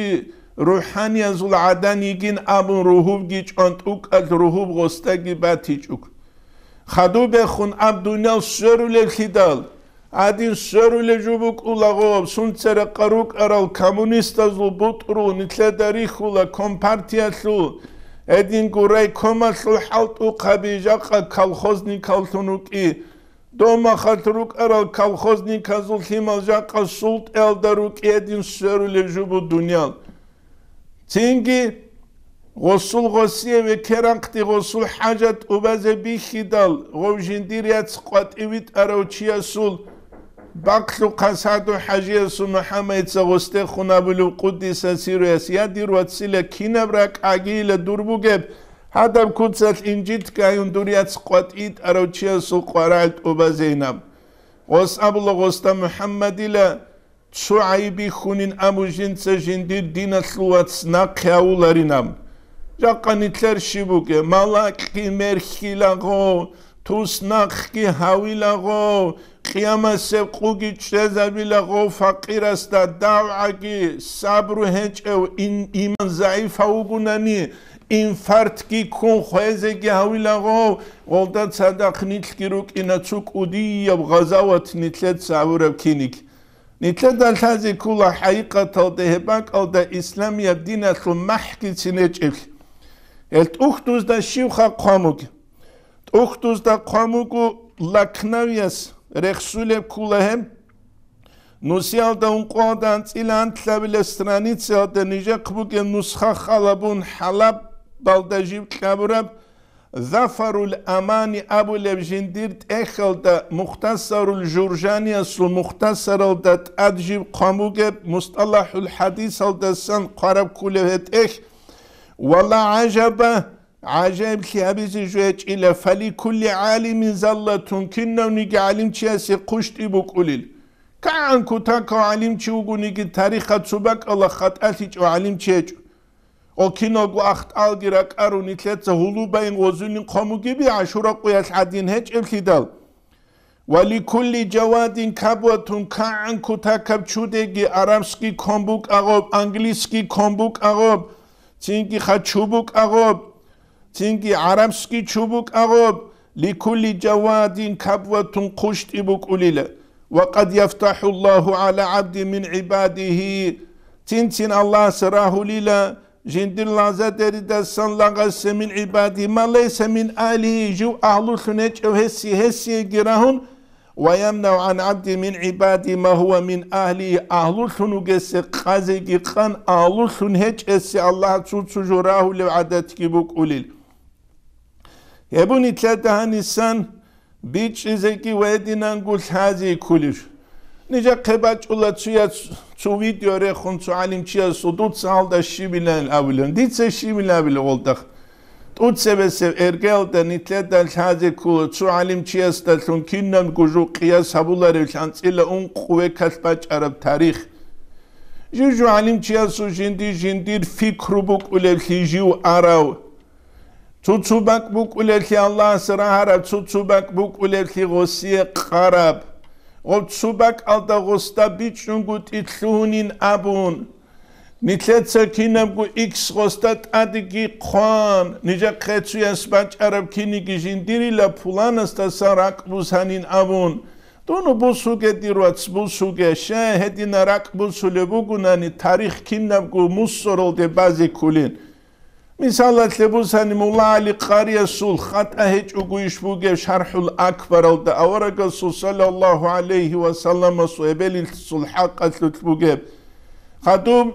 рухӀаниязул гӀадан йигин абун ругьубги чӀван тӀукӀал ругьуб гъосдаги батичӀуг. Хадубехун аб дуниял сверулевлъидал, гьадин сверулев жо букӀулаго, сунцерекъа рукӀарал коммунистазул бутӀрул нилъеда рихьула компартиялъул, гьединго райкомалъул хӀалтӀухъаби жакъа колхозникаллъун рукӀи, домахалъ рукӀарал колхозниказул лъимал жакъа султӀаялда рукӀи гьедин сверулев жо бу дуниял. Цинги гъосул гъосие векеранхъди гъосул хӀажат тӀубазе бихьидал, гъов жиндир яц къватӀив витӀарав чиясул бакълъухъа Саду-хӀажиясул МухӀаммадица гъосдехун абулев къуддиса сирругьуяс: «Я дир вацила, кинаб ракӀ гӀагийила дур бугеб, гьадаб куцалъ инжитгайун дур яц къватӀив витӀарав чиясул къварагӀел тӀубазейин». Гъос абула гъосда МухӀаммадила: «Цо гӀайиб бихьунин абу жинца жиндир диналъул вац нахъе гьавуларин аб. Жакъа нилъер щиб бугеб, малакьги мерхьилаго, туснахъги гьавилаго, къиямасеб къуги чӀезабилаго, факъирасда давгӀаги, сабру гьечӀев, ин-, иман загӀифав вугунани, инфарктги ккун хвезеги гьавилаго, гъолда цадахъ нилъги рукӀина цо кӀудияб гъазават нилъеца гьавураб киниг». Нилъеда лъазе ккола хӀакъикъаталда гьеб бакӀалда исламияб диналъул махӀгицин гьечӀеблъи. Гьел тӀухьдузда щивха хъван бугеб? ТӀухьдузда хъван буго Лакнавияс, рехсулеб ккола гьеб. Нусиялда ункъоялда анцӀила анлъабилеб страницаялда нижехъ бугеб нусха халабун ХӀалабалда жиб кьабураб Зафарул Амани абулеб жиндир тӀехьалда Мухтасарул Журжаниясул мухтасаралда тӀад жиб хъван бугеб, МустӀалахӀул хӀадисалдасан хъвараб кколеб гьеб тӀехь. Вала гӀажаба, гӀажаиблъи гьабизе жо гьечӀила, фаликулли гӀалимин заллатун, кинавниги гӀалимчиясе хъущтӀи букӀулел. КигӀан кутакав гӀалимчи вугониги, тарихалъ цо бакӀалда хатӀалъичӀев гӀалимчи гьечӀо. О, киналго ахталги ракӀарун, нилъеца гьулубайин гъозулин хъван бугеби, ГӀашура къуялъ гӀадин гьечӀеблъидал. Ва ликулли жавадин кабватун, кигӀан кутакаб чудеги, арабский ккун букӀа гъоб, английский ккун букӀа гъоб, цинги хъачу букӀа гъоб, цинги гӀарабский чу букӀа гъоб, ликулли жавадин кабватун хъущтӀи букӀулила. Ва къад яфтахӀуллагьу гӀала гӀабди мин гӀибадигьи, цин-цин Аллагьас рагьулила жиндир лагъзадеридасан лагъасе мин гӀибади ма лайса мин агьлигьи, жив агьлулъун гьечӀев гьесие, гьесиеги рагьун, ва ямнагӀу гӀан гӀабди мин гӀибади ма гьува мин агьлигьи, агьлулъун вугесе къазеги къан, агьлулъун гьечӀесе Аллагь цо-цо жо рагьулев гӀадатги букӀулел. Гьеб нилъеда гьанисан бичӀчӀизеги ва гьединанго лъазе кколеб. Нижехъе бачӀула цояс цо видео рехун цо гӀалимчиясул, дуца гьалда щибилан абилан, дица щибилан абила гъолдахъ. ТӀуцебесеб эргеялда нилъеда лъазе ккола цо гӀалимчиясдалъун кинабго жо къияс гьабуларев анцӀила ункъ векалъ бачӀараб тарих. Жив-жив гӀалимчиясул жинди-жиндир пикру букӀулеблъи жив арав. Цо-цо бакӀ букӀулеблъи Аллагьас рагьараб, цо-цо бакӀ букӀулеблъи гъосие къараб. Гъоб цо бакӀалда гъосда бичӀчӀунгутӀи лъугьунин абун, нилъеца кинабго икс гъосда тӀадеги хъван, нижехъе цояс бачӀараб киниги жиндирила пуланасдасан ракӀ бусанин абун, дун бусуге, дир вац, бусуге, щай гьедина ракӀ бусулеб бугунани, тарих кинабго мусоралде базе кколин. Мисалалъе бусани, Мулла ГӀали Къариясул хатӀа гьечӀого иш бугеб ШархӀул Акбаралда, аварагасул саллаллагьу гӀалайгьи ва салламасул эбелилъул хӀакъалъулъ бугеб. Хадуб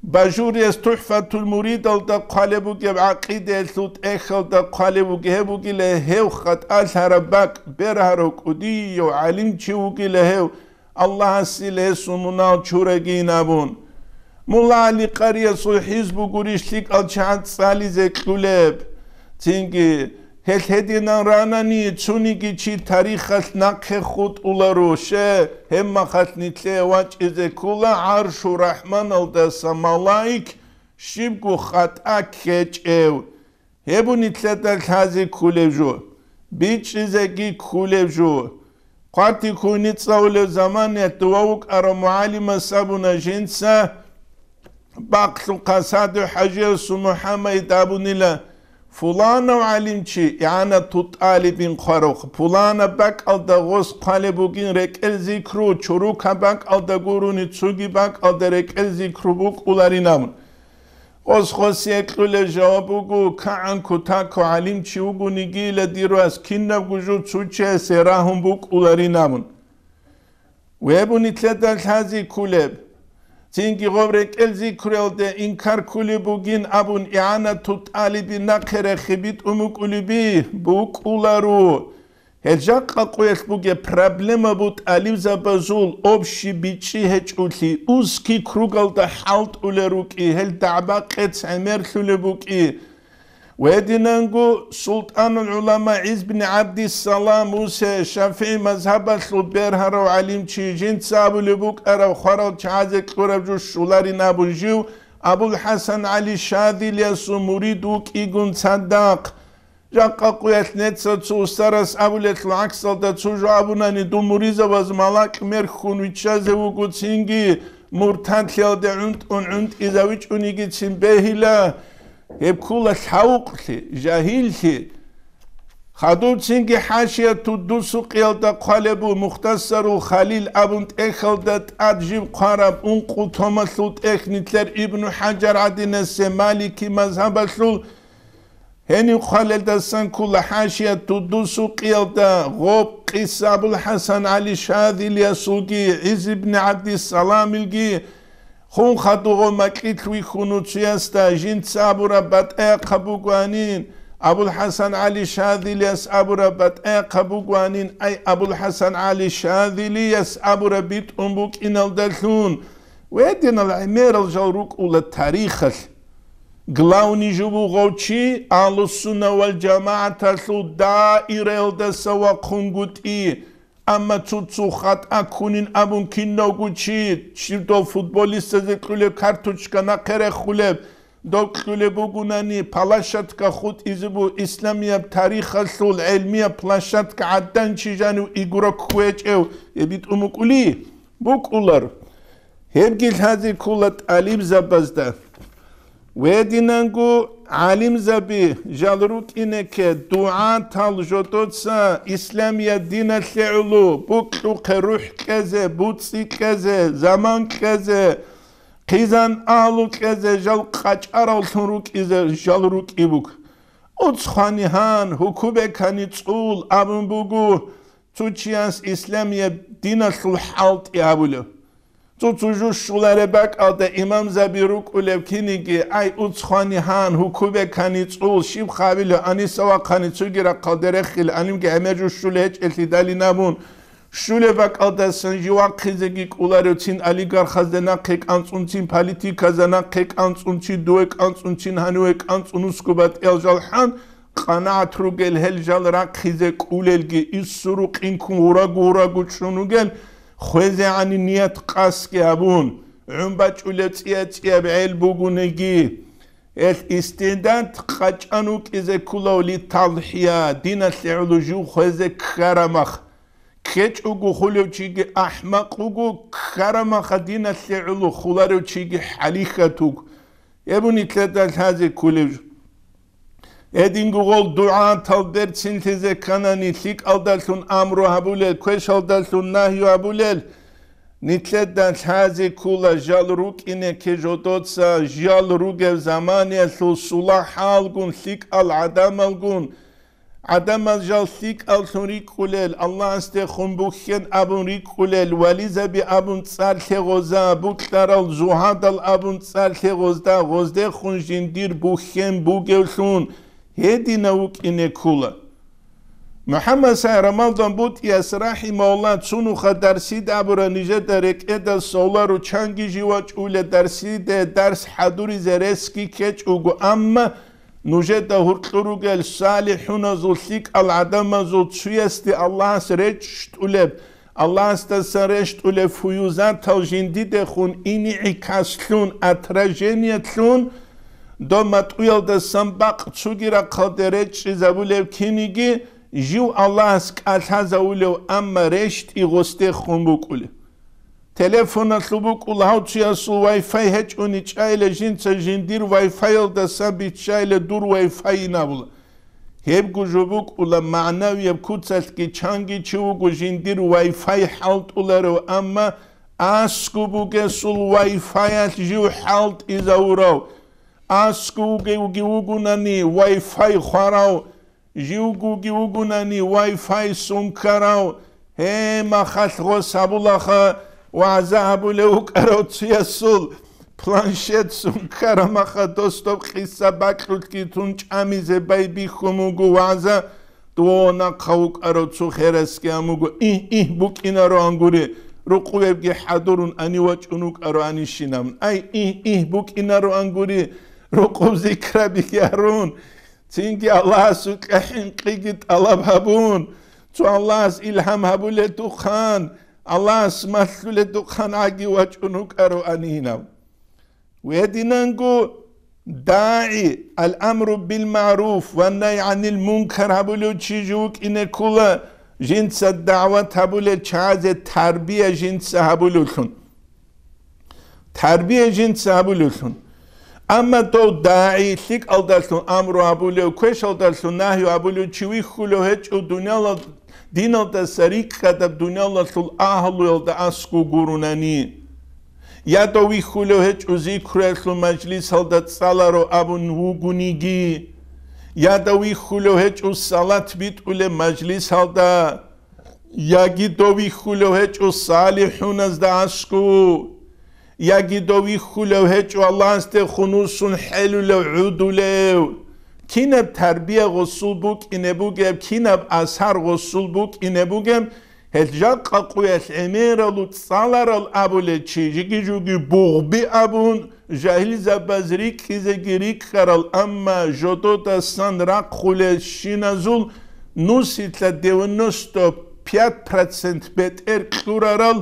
Бажурияс ТухӀфатул муридалда хъвалеб бугеб, гӀакъидаялъул тӀехьалда хъвалеб бугеб, гьеб бугила гьев хатӀалъараб бакӀ, бергьарав кӀудияв гӀалимчи вугила гьев. Аллагьасил гьесул мунагьал чурагин абун. Мулла ГӀали Къариясул хӀизбу гурищ лъикӀал чагӀаз цӀализе кьулеб. Цинги, гьел гьединан ранани, цониги чи тарихалъ нахъе хутӀуларо, ще, гьебмахалъ нилъее вачӀизе ккола ГӀаршу РахӀманалдаса малаик щибго хатӀа ккечӀев. Гьеб нилъеда лъазе кколеб жо, бичӀчӀизеги кколеб жо. Хъвати-ккуни цӀалулеб заманаялъ дова вукӀарав мугӀалимас абуна жинца, бакълъухъа СагӀдухӀажиясул МухӀаммад абунила, фуланав гӀалимчи, игӀанату тӀалибин хъварухъ, пуланаб бакӀалда гъос хъвалеб бугин рекӀел зикру, чурукаб бакӀалда гурони цоги бакӀалда рекӀел зикру букӀуларин абун. Гъос-гъосие кьулеб жаваб буго, кагӀан кутако гӀалимчи вугонигила дир вас, кинабго жо цо чиясе рагьун букӀуларин абун. Гьеб нилъеда лъазе кколеб. Цинги гъоб рекӀел зикруялде инкар кколеб бугин абун, игӀанату тӀалибин нахъе рехи битӀун букӀулеби? БукӀуларо. Гьел жакъа къуялъ бугеб проблема бу тӀалибзабазул общий бичӀчӀи гьечӀолъи, узкий кругалда хӀалтӀулел рукӀи, гьел дагӀба-къец гӀемерлъулеб букӀи. Гьединанго СултӀанул гӀулама ГӀиз бин ГӀабдиссалам Усе, ШафигӀи мазгьабалъул бергьарав гӀалимчи, жинца абулеб букӀараб хварал чагӀазе кьураб жо щоларин абун жив, АбулхӀасан ГӀали Шадилиясул мурид вукӀигун цадахъ. Жакъа къуялъ неца цо устарас абулелъул гӀаксалда цо жо абунани, дун муризабаз малакь мерхьун виччазе вуго, цинги муртадлъиялде гӀунтӀун гӀунтӀизавичӀунигицин бегьила. Гьеб ккола лъавукълъи, жагьиллъи. Хадубцинги хӀашияту Дусукъиялда хъвалеб буго, Мухтасарул Халил абун тӀехьалда тӀад жиб хъвараб ункъо томалъул тӀехь нилъер Ибну ХӀажар гӀадинасе малики мазгьабалъул гьенив хъвалелдасан ккола хӀашияту Дусукъиялда гъоб къиса АбулхӀасан ГӀали Шазилиясулги, ГӀиз ибн ГӀабдиссаламилги, Хун хадуго макьилъ вихьун цуясда жинца абураб батӀаякъаб бугоанин, АбулхӀасан ГӀали Шазилияс абураб батӀаякъаб бугоанин, ай АбулхӀасан ГӀали Шазилияс абураб битӀун букӀиналдалъун, гьединал гӀемерал жал рукӀула тарихалъ. Главный жо бугев чи Агьлуссунна вал ЖамагӀаталъул даираялдаса вахъунгутӀи, Амма цо-цо хатӀа ккунин абун кинавго чи, щиб дов футболистазе кьулеб карточка нахъе рехулеб, дов кьулеб бугунани, палащатка хутӀизе буго исламияб тарихалъул гӀелмияб площадка гӀадин чи жанив игрок кквечӀев, гьеб битӀун букӀули? БукӀулар. Гьебги лъазе ккола тӀалибзабазда. Гьединанго гӀалимзаби жал рукӀинеке, дугӀатал жодоца исламият диналъе гӀоло букьухъе рухӀ кьезе, буцӀи кьезе, заман кьезе, хъизан агьлу кьезе жал къачӀаравлъун рукӀизе жал рукӀи буго. Уцхъани гьан, гьукубекани цӀул абун буго, цо чияс исламияб диналъул хӀалтӀи гьабулев. Цо-цо жо щолареб бакӀалда имамзаби рукӀулев киниги, ай, уцхъани гьан, гьукубекани цӀул, щиб хъабилев, аниса вахъани цоги рахъалде рехил, анимги гӀемер жо щулей гьечӀелъидалин абун, щулеб бакӀалдасан жив вахъизеги кӀоларев, цин олигархазда нахъе кӀанцӀун, цин политиказда нахъе кӀанцӀун, чи дуве кӀанцӀун, чин гьаниве кӀанцӀун, уску батӀиял жал хӀан, къанагӀат ругел гьел жал рахъизе кӀулелги, иссуру къинкун гьурагу-гьурагу чӀун ругел, хвезегӀани ният къасги гьабун, гӀун бачӀулеб цӀия-цӀияб гӀел бугунеги, гьел истидад къачӀан вукӀизе кколавли талхӀия, диналъе гӀоло жив хвезе ккарамах. КкечӀого хулев чиги ахӀмакъ вуго, ккарамаха диналъе гӀоло хуларев чиги хӀалихьат вуго. Гьеб нилъеда лъазе кколев жо. Гьединго гъол дугӀатал берцинлъизе кканани, лъикӀалдалъун амру гьабулел, квешалдалъун нагью гьабулел, нилъеда лъазе ккола жал рукӀинеке жодоца, жал ругев заманиялъул сулагьалгун, лъикӀал гӀадамалгун, ГӀадамал жал лъикӀаллъун рикӀкӀулел, Аллагьасдехун бухьен абун рикӀкӀулел, вализаби абун цӀар лъегъоза, букьарал зугьадал абун цӀар лъегъозда, гъоздехун жиндир бухьен бугевлъун гьединав вукӀине ккула. МухӀаммад Сай Рамалдан БутӀияс, рахӀимагьуллагь, цунуха дарсида абура нижеда рекӀеда совлару чанги жив вачӀула дарсиде дарс хӀадуризе ресги ккечӀого, амма Нужеда гьуркьур ругел салихӀуназул, лъикӀал гӀадамазул цуясде Аллагьас речӀчӀулеб, Аллагьасдасан рещтӀулеб фуюзатал жиндидехун инигӀикаслъун, отражениялъун, доб матӀуялдасан бакъ цуги рахъалде речӀчӀизабулев киниги жив Аллагьас кӀалъазавулев, амма рещтӀи гъосдехун букӀулев. Телефоналъул букӀула гьав чиясул Wi-Fi гьечӀони чӀайила жинца жиндир Wi-Fi-ялдасан биччайила дур Wi-Fi-ин абула. Гьебго жо букӀула, магӀнавияб куцалъги чанги чи вуго жиндир Wi-Fi хӀалтӀуларев, амма аскӀоб бугесул Wi-Fi-ялъ жив хӀалтӀизавурав, аскӀов вугевги вугунани Wi-Fi хварав, Живгоги вугунани Wi-Fi сункарав, гье, махалъ гъос гьабулаха, вагӀза гьабулев вукӀарав цуясул планшет сункарамаха, дос доб къиса бакьулъги тун чӀамизе байбихьун вуго вагӀза, дов нахъа вукӀарав цо херасги гьамуго, игь-игь букӀинароан гури, рукъувебги хӀадурун ани вачӀун вукӀароанищинаб. Ай, игь-игь букӀинароан гури, рукъуб зикрабиги гьарун, Цинги Аллагьасукьа хӀинкъиги тӀалаб гьабун, цо Аллагьас илгьам гьабуледухъан, Аллагьас малъуледухъан гӀаги вачӀун вукӀароанинав. Гьединанго дагӀи, ал-амру бил-магӀруф ва най гӀанил мункар гьабулев чи жо вукӀине ккула, жинца дагӀват гьабулел чагӀазе тарбия жинца гьабулевлъун. Тарбия жинца гьабулевлъун. Амма дов дагӀи, лъикӀалдалъун амру абулев, квешалдалъун нагью абулев чи вихьулев гьечӀо, дунялал-, диналдаса рикӀкӀадаб дуниялалъул агьлуялда аскӀов гурунани. Я дов вихьулев гьечӀо зикруялъул мажлисалда цӀаларо абун вугониги, я дов вихьулев гьечӀо салат битӀулеб мажлисалда, яги дов вихьулев гьечӀо салихӀуназда аскӀов, яги дов вихьулев гьечӀо Аллагьасде хунусун хӀелулев гӀодулев. Кинаб тарбия гъосул букӀине бугеб, кинаб асар гъосул букӀине бугеб, гьел жакъа къуялъ гӀемералъ цӀаларал абулел чи, жиги-жуги бугъби абун, жагьилзабаз рикӀкӀизеги рикӀкӀарал, амма жододасан рахъулелщиназул нусилъа девяносто пять процент бетӀер кьурарал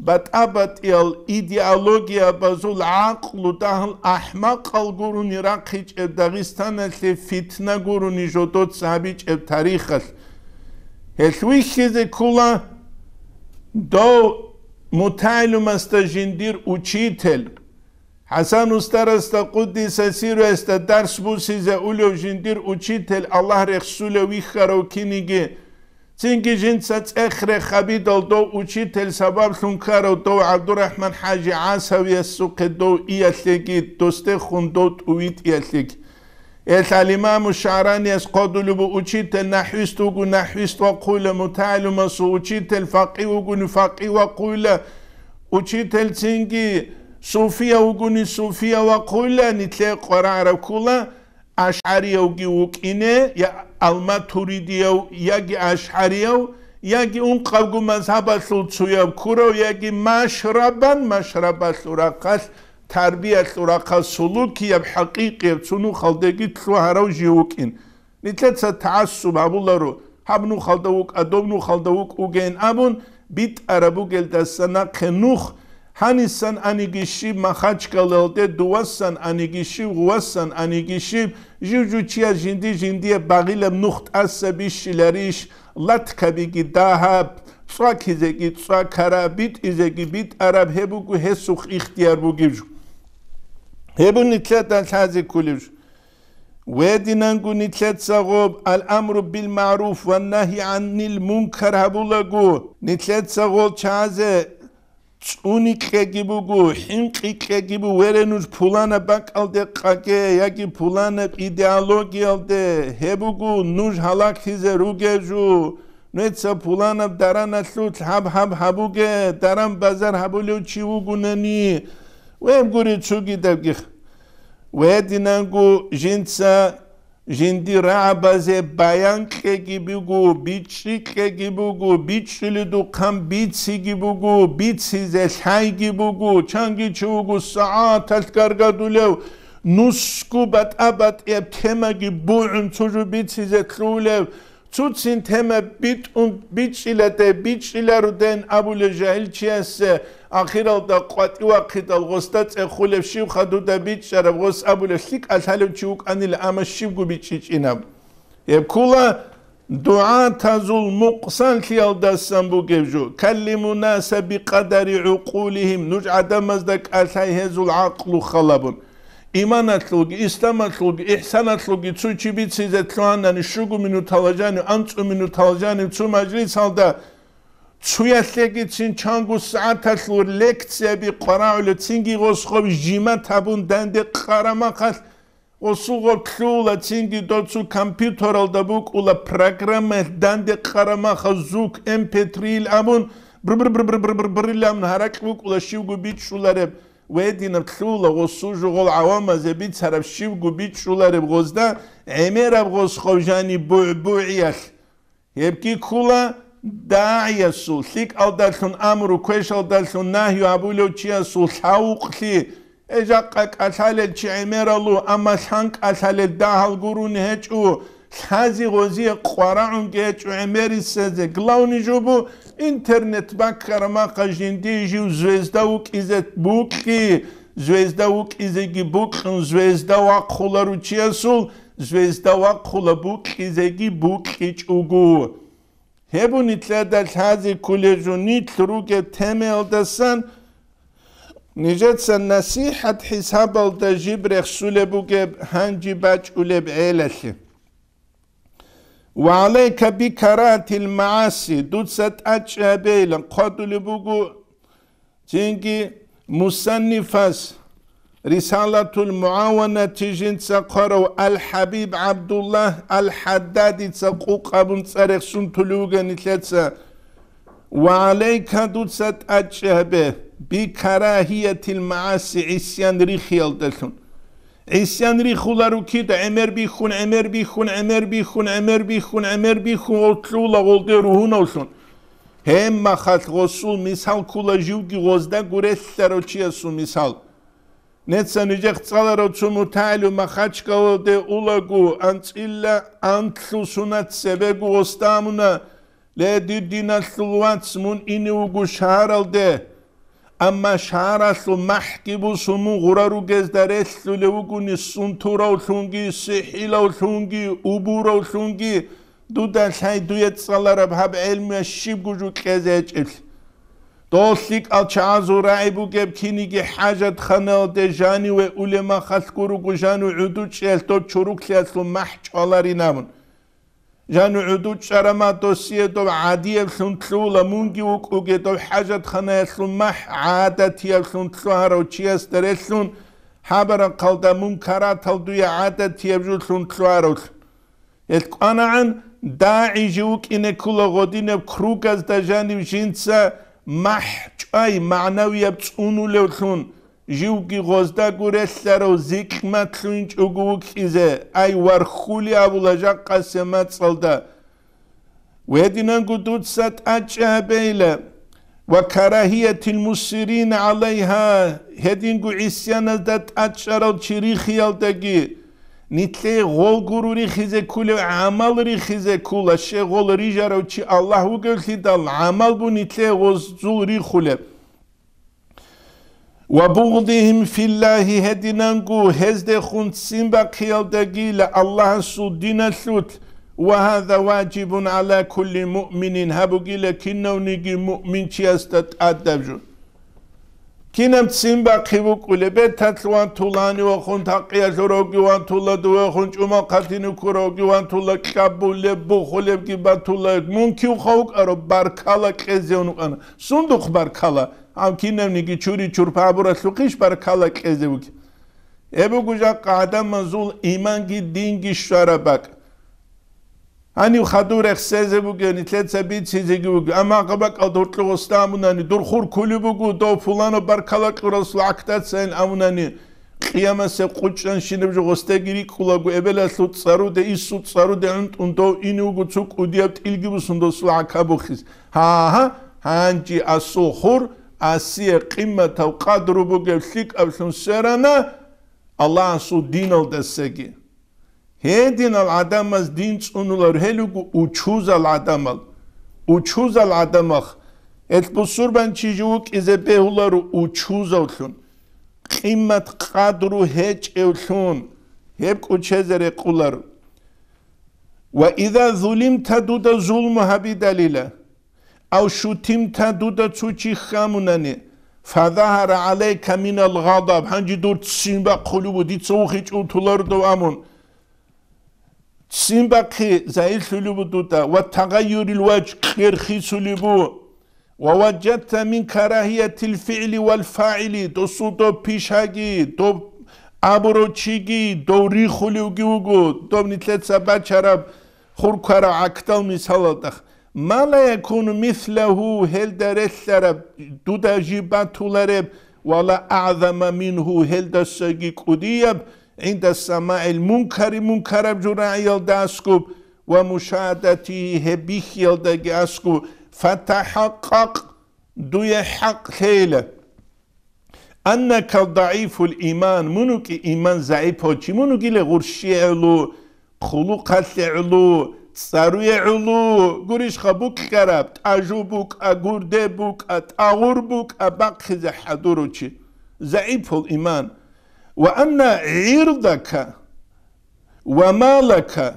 батӀа-батӀиял идеологиябазул гӀакълу дагьал ахӀмакъал гурони рахъичӀеб, Дагъистаналъе фитна гурони жодоца гьабичӀеб тарихалъ. Гьелъ вихьизе ккола дов мутагӀилумасда жиндир учитель. ХӀасан устарасда, къуддиса сирруясда, дарс бусизе улев жиндир учитель, Аллагь рехсулев вихьарав киниги, цинги жинца цӀех-рех гьабидал дов учитель сабаблъун ккарав дов ГӀабдурахӀман-хӀажи ГӀасавиясухъе дов иялъеги, досдехун дов тӀувитӀиялъеги. Гьелъ ал-Имаму ШагӀранияс хъодулеб учитель, нахӀвист вуго, нахӀвист вахъуйла, мутагӀилумасул учитель, факъигь вугони, факъигь вахъуйла, учитель цинги суфия вугони, суфия вахъуйла, нилъее къварагӀараб ккола, ашгӀариявги вукӀине, я алматуридияв, яги ашгӀарияв, яги ункъабго мазгьабалъул цояб ккурав, яги машрабан, машрабалъул рахъалъ, тарбиялъул рахъалъ, сулукияб, хӀакъикъияб цо нухалдаги лъугьарав жив вукӀин. Нилъеца тагӀассуб гьабуларо, гьаб нухалда вукӀа, доб нухалда вукӀ вугейин абун битӀараб бугелдаса нахъе нух, гьанисан аниги щиб Махачкалалде, дувасан аниги щиб, гъувасан аниги щиб, жив-жив чияс жинди-жиндие багъилаб нух тӀаса бищиларищ, латкабиги дагьаб, цӀвакизеги цӀвакараб, битӀизеги битӀараб, гьеб буго гьесухъ ихтияр бугеб жо. Гьеб нилъеда лъазе кколеб жо. Гьединанго нилъеца гъоб ал-амру бил-магӀруф ва нагьи гӀанил мункар гьабулаго, нилъеца гъол чазе цӀуникьеги буго, хӀинкъикьеги буго, вере нуж пуланаб бакӀалде къаге яги пуланаб идеологиялде, гьеб буго нуж гьалаклъизе ругел жо. Нуца пуланаб дараналъулъ гьаб-гьаб гьабуге, даран-базар гьабулев чи вугунани, веб гури цугидабги. Гьединанго жинца жинди рагӀабазе баян кьеги буго, бичӀчӀи кьеги буго, бичӀчӀуледухъан бициги буго, бицизе лъайги буго, чанги чи вуго сагӀаталъ гаргадулев, нусго батӀа-батӀияб темаги бугӀун цо жо бицизе лъугьулев, цуцин тема битӀун бичӀчӀиладе, бичӀчӀиларуден абулев жагьилчиясе, ахиралда къватӀивахъидал гъосда цӀехулеб щиб хадуда бичӀчӀараб гъос абулев лъикӀа лъалев чи вукӀанила, амма щибго бичӀчӀичӀинаб. Гьеб ккола дугӀатазул мукъсанлъиялдасан бугеб жо, каллиму наса бикъадари гӀукъулихим, нуж гӀадамазда кӀалъай гьезул гӀакълу халабун. Иманалъулги, исламалъулги, ихсаналъулги цо чи бицизе лъугьанани, щуго минуталда жанив, анцӀу минуталда жанив цо мажлисалда цоялъегицин чанго сагӀаталъул лекцияби къварагӀулев, цинги гъосхъо жимат гьабун данде къарамахъалъ, гъосул гъоб лъугьула, цинги доцу компьютералда букӀула программаялъ данде къарамахъа звук эм пэ три-ил абун, бр-бр-бр-бр-бр-бр-бр-брилан гьаракь букӀула щивго бичӀчӀулареб. Гьединаб лъугьула гъосул жугъул гӀавамазе бицараб щивго бичӀчӀулареб гъозда гӀемераб гъосхъав жани бугӀбугӀиялъ. Гьебги ккола дагӀиясул, лъикӀалдалъун амру, квешалдалъун нагью гьабулев чиясул лъавукълъи. Э, жакъа кӀалъалел чи гӀемералу, амма лъан кӀалъалел дагьал гурони гьечӀо, лъази-гъозие къварагӀунги гьечӀо гӀемерисезе. Главный жо бу, интернет баккараб махъа жиндие жив звезда вукӀизе букьи, звезда вукӀизеги букьун, звезда вахъула ручиясул, звезда вахъула букьизеги букьичӀого. Гьеб нилъеда лъазе кколеб жо, нилъ ругеб темаялдасан Нижеца насихӀат хӀисабалда жиб рехсулеб бугеб гьанжи бачӀулеб гӀелалъе. Ва гӀалайка бикаратил магӀаси, дуца тӀачӀи гьабейилан хъвадулеб буго цинги мусаннифас Рисалатул МугӀаванати жинца хъварав Ал-ХӀабиб ГӀабдуллагь Ал-ХӀаддадица къукъ абун цӀа рехсун тулев вугани лъеца. Ва гӀалайка, дуца тӀачӀи гьабе, бикарагьиятил магӀаси, гӀисян рихиялдалъун. ГӀисян рихуларо кида гӀемер бихьун, гӀемер бихьун, гӀемер бихьун, гӀемер бихьун, гӀемер бихьун, гъолъула гъолде ругьунавлъун. Гьебмахалъ гъосул мисал ккола живги гъозда гурелъарав чиясул мисал. Неца нижехъ цӀаларав цо мутагӀилив Махачкалалде улаго, анцӀила анлъу сунат цебего гъосда амуна: «Ле, дир диналъул вац, мун ине вуго шагьаралде». Амма шагьаралъул махӀги бусун мун гъура ругезда релълъулев вугони, сунтуравлъунги, сихӀилавлъунги, убуравлъунги, дуда лъай дуе цӀалараб гьаб гӀелмуялъ щибго жо кьезе гьечӀеблъи. Дол лъикӀал чагӀазул рагӀи бугеб киниги хӀажатханаялде жаниве улеб махалъ гуруго жанив гӀудучӀиялъ доб чуруклъиялъул махӀ чӀваларин абун. Жанив гӀудучӀарама досие доб гӀадиявлъун лъугьула, мунги вукӀуге доб хӀажатханаялъул махӀ гӀадатиявлъун лъугьарав чиясда релълъун, хӀабарахъалда мункаратал дуе гӀадатияб жолъун лъугьаравлъун. Гьел кӀванагӀан дагӀи жив вукӀине ккола гъодинаб кругазда жанив жинца махӀ чӀвай, магӀнавияб цӀунулевлъун, живги гъозда гурелъарав зикьматлъуинчӀого вукӀизе, ай, вархьули абула жакъасе мацӀалда. Гьединанго дуца тӀачӀи гьабейла. Ва карагьиятил мусиррин гӀалайгьа, гьединго гӀисяназда тӀачӀарал чи рихиялдаги, нилъее гъол гуро рихизе кколев гӀамал рихизе ккола, щай гъол рижарав чи Аллагь вугевлъидал, гӀамал бу нилъее гъозул рихулеб. Ва бугъдихим филлагьи, гьединанго гьездехун ццин бахъиялдагила Аллагьасул диналъулъ, ва гьаза важибун гӀала кулли муъминин, гьабугила кинавниги муъминчиясда тӀадаб жо. Кинаб ццин бахъи букӀулеб, беталъ вантулани вахун, такъиялъуравги вантула, дувехун чӀумал хъатине ккуравги вантула, кьабулеб, бухулебги батула, мун кивха вукӀараб баркала кьезевун вукӀана. Сундухъ баркала? Гьав кинавниги чури-чурпа гьабуралъухъищ баркала кьезе вугеб? Гьеб буго жакъа гӀадамазул иманги динги щвараб бакӀ. Гьанив хадур рехсезе бугеб, нилъеца бицизеги буго, амма гьаб бакӀалда гьоркьо гъосда амунани, дур хур кколеб буго, дов пуланаб баркала кьурасул гӀакдацайин амунани, къиямасеб къучӀанщинаб жо гъосдаги рикӀкӀулаго, эбелалъул цӀаруде, инсул цӀаруде гӀунтӀун дов ине вуго цо кӀудияб тӀилги бусун досул гӀака бухизе. Гьа-гьа, гьанже асул хур асие къиматав къадру бугев лъикӀаблъун сверана Аллагьасул диналдасаги. Гьединал гӀадамаз дин цӀунулар гьел руго учузал гӀадамал. Учузал гӀадамах. Гьел бусурбанчи жив вукӀизе бегьуларо учузавлъун, къимат-къадру гьечӀевлъун, гьеб кӀочезе рекъоларо. Ва иза зулимта, дуда зулму гьабидалила, ав шутимта, дуда цо чи хьамунани, фазагьара гӀалайка минал гъадаб, гьанже дур ццин бахъулев ву, дица вухичӀев вутуларо дов амун. Ццин бахъи загьирлъулев ву дуда, ва тагъайюрил важгь, кьер хисулев ву. Ва важадта мин карагьиятил фигӀли вал фагӀили, досул доб пишаги, доб абурав чиги, дов рихулевги вуго, доб нилъеца бачараб хуркарав гӀакдал мисалалдах. Ма ла якуну мислагьу, гьелда релълъараб, дуда жиб батулареб, ва ла агӀзама мингьу, гьелдасаги кӀудияб, гӀинда самагӀил мункари, мункараб жо рагӀиялда аскӀуб, ва мушагьадатигьи, гьеб бихьиялдаги аскӀуб, фатахӀакъкъакъ, дуе хӀакъ лъейила. Аннака дагӀифул иман, мун вукӀи иман загӀипав чи, мун вугила гъурщи гӀоло, хъулухъалъе гӀоло, цӀаруе гӀоло, гурищха букьараб, тӀажу букӀа, гурде букӀа, тӀагъур букӀа, бахъизе хӀадурав чи. ЗагӀипул иман. Ва анна гӀирдака ва малака,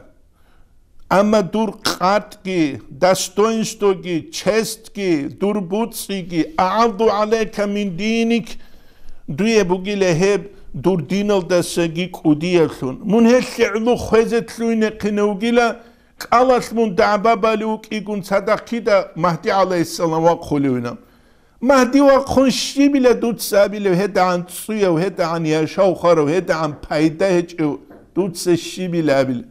амма дур къатӀги, достоинствоги, честги, дур буцӀцӀиги, агӀаззу гӀалайка мин диник, Дуе бугила гьеб дур диналдасаги кӀудияблъун. Мун гьелъ гӀоло хвезе лъугьинехъине вугила, кӀалалъ мун дагӀба балев вукӀигун цадахъ кида Магьди гӀалайгьиссалам вахъулевина. Магьди вахъун щибила дуца абилев, гьедагӀан цӀуяв, гьедагӀан яшав хварав, гьедагӀан пайда гьечӀев дуца щибила абила?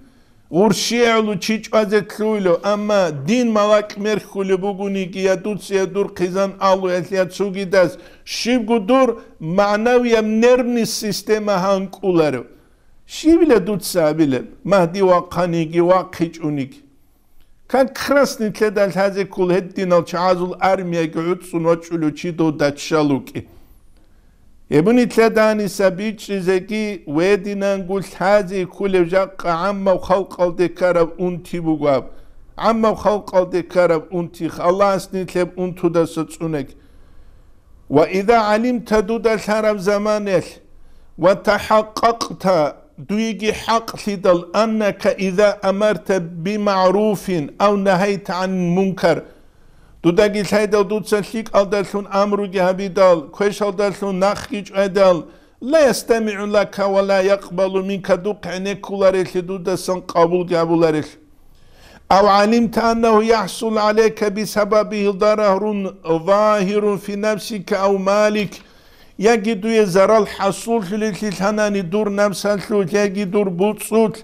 ГъурщигӀулев чи чӀвазе лъугьулев, амма дин малакь мерхьулеб бугониги, я дуца, я дур хъизан алуялъ, я цогидас, щибго дур магӀнавияб нервный система гьанкӀуларев. Щибила дуца абилеб, Магьди вахъаниги, вахъичӀониги? Как раз нилъеда лъазе ккола гьединал чагӀазул армияги гӀуцӀун вачӀулев чи дов даччал вукӀи. Гьеб нилъеда гьаниса бичӀчӀизеги, гьединанго лъазе кколеб жакъа гӀаммаб халкъалде ккараб унти буго аб. ГӀаммаб халкъалде ккараб унти, Аллагьас нилъ гьеб унтудаса цӀунеги. Ва иза гӀалимта, дуда лъараб заманаялъ, ва тахӀакъакъта, дуеги хӀакълъидал, аннака иза амарта бимагӀруфин ав нагьайта гӀанил мункар, дудаги лъайдал дуца лъикӀалдалъун амруги гьабидал, квешалдалъун нахги чӀвайдал, ла ястамигӀу лака ва ла якъбалу минка, духъ гӀенеккуларелъи дудасан къабулги гьабуларелъ. Ав гӀалимта аннагьу яхӀсул гӀалайка бисабабигьи дарарун загьирун фи нафсика ав малик, яги дуе зарал хӀасуллъулелъи лъанани дур напсалъулъ яги дур буцӀцӀулъ,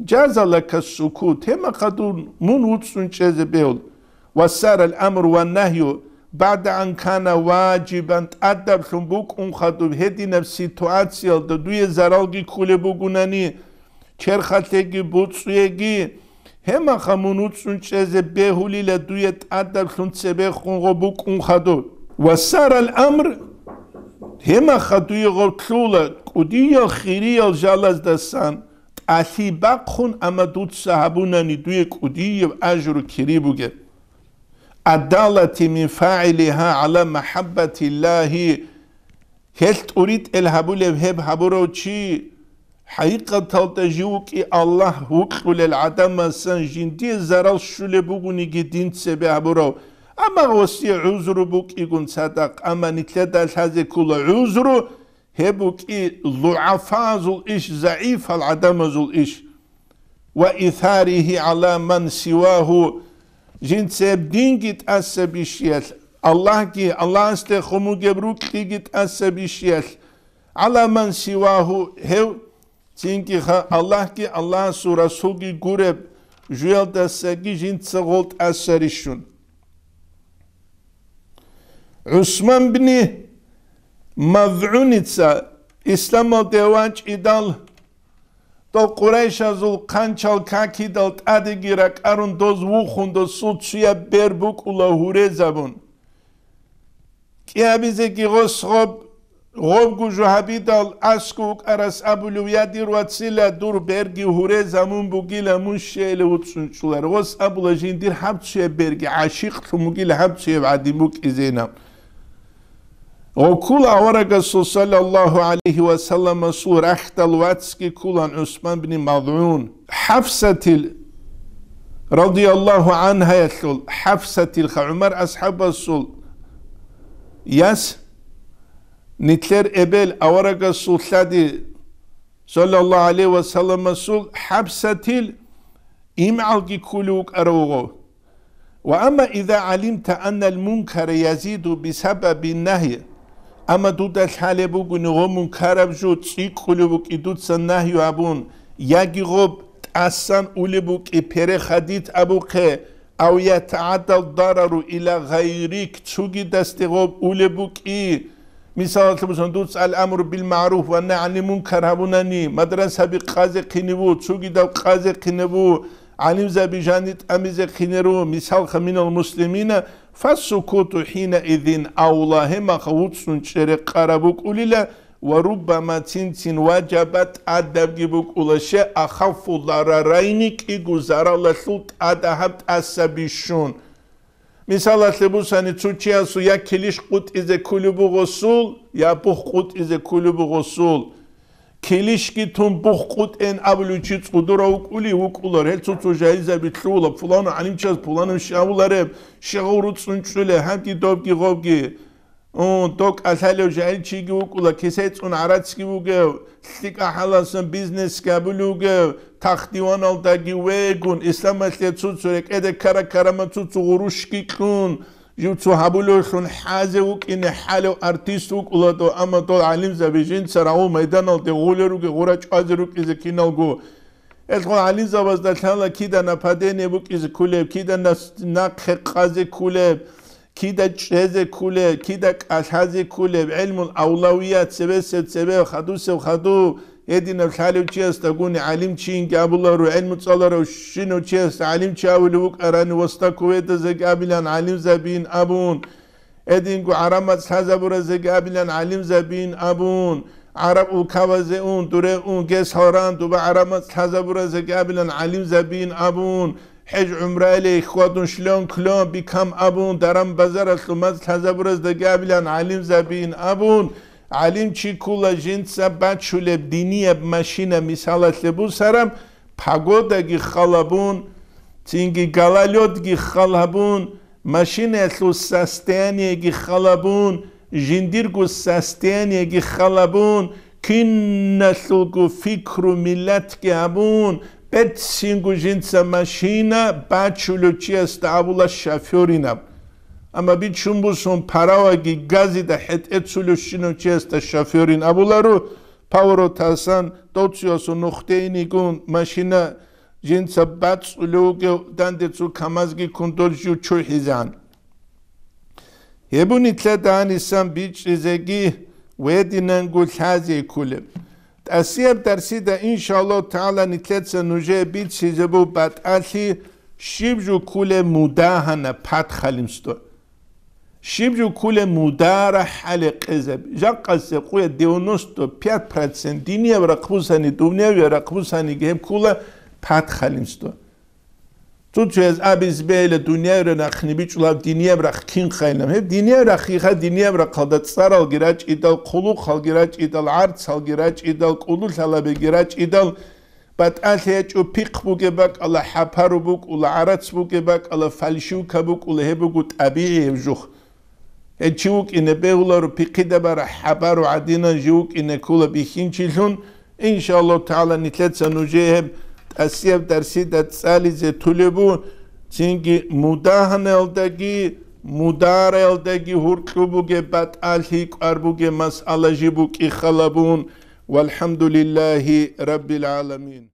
жаза лака ссукут, гьебмахъа дун мун вуцӀцӀун чӀезе бегьул. Ва сарал амру ва нагью багӀда ан кана важибан, тӀадаблъун букӀун хадуб гьединаб ситуациялда дуе заралги кколеб бугунани, черхалъеги буцӀцӀуеги, гьемаха мун вуцӀцӀун чӀезе бегьулила дуе тӀадаблъун цебехун гъо букӀун хадуб. Ва сарал амр, гьемаха дуе гъо лъула кӀудиял хириял жалаздасан тӀалъи бахъун, амма дуца гьабунани дуе кӀудияб ажру кири бугеб. Адалати мин фагӀилиха гӀала махӀаббатиллагьи, гьелъ тӀуритӀел гьабулев гьеб гьабурав чи, хӀакъикъаталда жив вукӀи Аллагь вукьулел гӀадамасан жиндие зарал щулеб бугониги дин цебе гьабурав, амма гъосие гӀузру букӀигун цадахъ, амма нилъеда лъазе ккола гӀузру, гьеб букӀи лугӀафазул иш, загӀифал гӀадамазул иш. Ва исарихи гӀала ман сивагьу, жинцеб динги тӀаса бищиялъ, Аллагьги, Аллагьасде хъумугеб рукьиги тӀаса бищиялъ, гӀала ман сивагьу, гьев цинги ха-, Аллагьги, Аллагьасул Расулги гуреб жуялдасаги жинца гъол тӀаса рищун. ГӀусман бни МазгӀуница исламалде вачӀидал, дол къурайшазул хъанчал какидал тӀадеги ракӀарун доз вухун, досул цуяб бер букӀула гьурезабун. КӀиабизеги гъос гъоб, гъобго жо гьабидал, аскӀов вукӀарас абулев: «Я, дир вацила, дур берги гьурезамун бугила, мун щейила вуцӀцӀун чӀолар». Гъос абула: «Жиндир гьаб цуяб берги гӀашикълъун бугила, гьаб цуяб гӀадин букӀизейилан». Гъоккула аварагасул саллаллагьу гӀалайгьи ва салламасул рахьдал вацги ккулан ГӀусман бни МазгӀун. ХӀафсатил, радияллагьу гӀангьаялъул, ХӀафсатил ха-, ГӀумар асхӀабасул яс, нилъер эбел аварагасул лъади, саллаллагьу гӀалайгьи ва салламасул, ХӀафсатил имгӀалги ккулев вукӀарав вуго. Ва амма иза гӀалимта аннал мункара язиду бисабаби нагьи, амма дуда лъалеб бугони гъо мункараб жо цӀикӀкӀулеб букӀи дуца нагью абун, яги гъоб тӀасан улеб букӀи перехадит абухъе, ав ятагӀаддал дарару ила гъайрик, цугидасде гъоб улеб букӀи. Мисалалъе бусани, дуца ал-амру бил-магӀруф ва нагь гӀанил мункар гьабунани, мадрасаби къазе хъиневу, цугидав къазе хъиневу, гӀалимзаби жанир тӀамизе хъинеру, мисалха, минал муслимина, фассукуту хӀинаизин авла, гьемаха вуцӀцӀун чӀере къараб букӀулила, ва руббама цин-цин важаба тӀадабги букӀула, ше ахаффу дарарайни, кӀиго заралалъул тӀада гьаб тӀаса бищун. Мисалалъе бусани, цо чиясул я килищ къутӀизе кколеб бугъосул, я бух къутӀизе кколеб бугъосул. Килищги тун бух къутӀен абулев чи цӀудурав вукӀулев вукӀулар, гьел цо-цо жагьилзаби лъугьула, пуланав гӀалимчияс пуланав щавулареб, щегъав руцӀцӀун чӀулев, гьабги добги гъобги. Ун, дов кӀалъалев жагьил чиги вукӀула, кисецӀун гӀарацги вугев, лъикӀа хӀалалсан бизнесги гьабулев вугев, тах-диваналдаги вегун, исламалъе цо-цо рекӀеде ккара-ккарама цо-цо гъурущги кьун, жив цо гьабулевлъун хӀазе вукӀине хӀалев артист вукӀула дов, амма дол гӀалимзаби жинца рагъул майданалде гъулел ругел гъура чӀвазе рукӀизе киналго. Гьелъул гӀалимзабазда лъала кида нападение букӀизе кколеб, кида нас-, нахъе къазе кколеб, кида чӀезе кколеб, кида кӀалъазе кколеб, гӀелмул авлавият цебесеб цебе, хадусеб хаду, гьединаб лъалев чиясдагуни гӀалимчинги абуларо, гӀелму цӀаларав щинав чиясда гӀалимчи абулев вукӀарани, Востоковедазеги абилан гӀалимзабиин абун, гьединго гӀараб мацӀ лъазабуразеги абилан гӀалимзабиин абун, гӀараб улкабазе ун, дуре ун, гес гьаран дуба гӀараб мацӀ лъазабуразеги абилан гӀалимзабиин абун, хӀеж гӀумраяле хьвадун шлон-клон бикам абун, даран-базаралъул мацӀ лъазабураздаги абилан гӀалимзабиин абун, гӀалимчи ккула жинца бачулеб динияб машина мисалалъе бусараб, погодаги халабун, цинги гололёдги халабун, машинаялъул состояниеги халабун, жиндирго состояниеги халабун, киналъулго фикру миллатги гьабун, берцинго жинца машина бачулев чиясда абула шофёринаб. Амма бичун бусун параваги газида хӀетӀе цулевщинав чиясда шофёрин абуларо, поворотасан, доцуясун нухде инигун машина жинца бацӀцӀулев вугев данде цо КамАЗги ккун дол жив чурхӀизегӀан. Гьеб нилъеда гьанисан бичӀчӀизеги ва гьединанго лъазе кколеб. ТӀасияб дарсида, иншаллагьу тагӀала, нилъеца нужее бицизе буго батӀалъи щиб жо кколеб мудагьана, подхалимство. Щиб жо кколеб мудара хӀале къезаб. Жакъасеб къуя девяносто пять процент динияб рахъ бусани, дунявияб рахъ бусаниги гьеб ккола подхалимство. Цо-цояз абизе бегьила дунявияб рахъни бичӀчӀулаб динияб рахъ кин хайилан. Гьеб динияб рахъиха, динияб рахъалда цӀаралги рачӀидал, хъулухъалги рачӀидал, гӀарцалги рачӀидал, кӀудулъалабиги рачӀидал, батӀалъи гьечӀо, пихъ бугеб бакӀала, хӀапару букӀула, гӀарац бугеб бакӀала, фальшивка букӀула, гьеб буго тӀабигӀи гьеб жух. Гьел чи вукӀине бегьуларо, пихъида бара, хӀапару гӀадинан жив вукӀине ккола бихьинчилъун, иншаллагьу тагӀала, нилъеца нужее гьеб тӀасияб дарсида цӀализе толеб бу, цинги мудагьанаялдаги, мудараялдаги гьуркьу бугеб батӀалъи кӀвар бугеб масъала жиб букӀи халабун. ВалхӀамдулиллагьи раббил гӀаламин.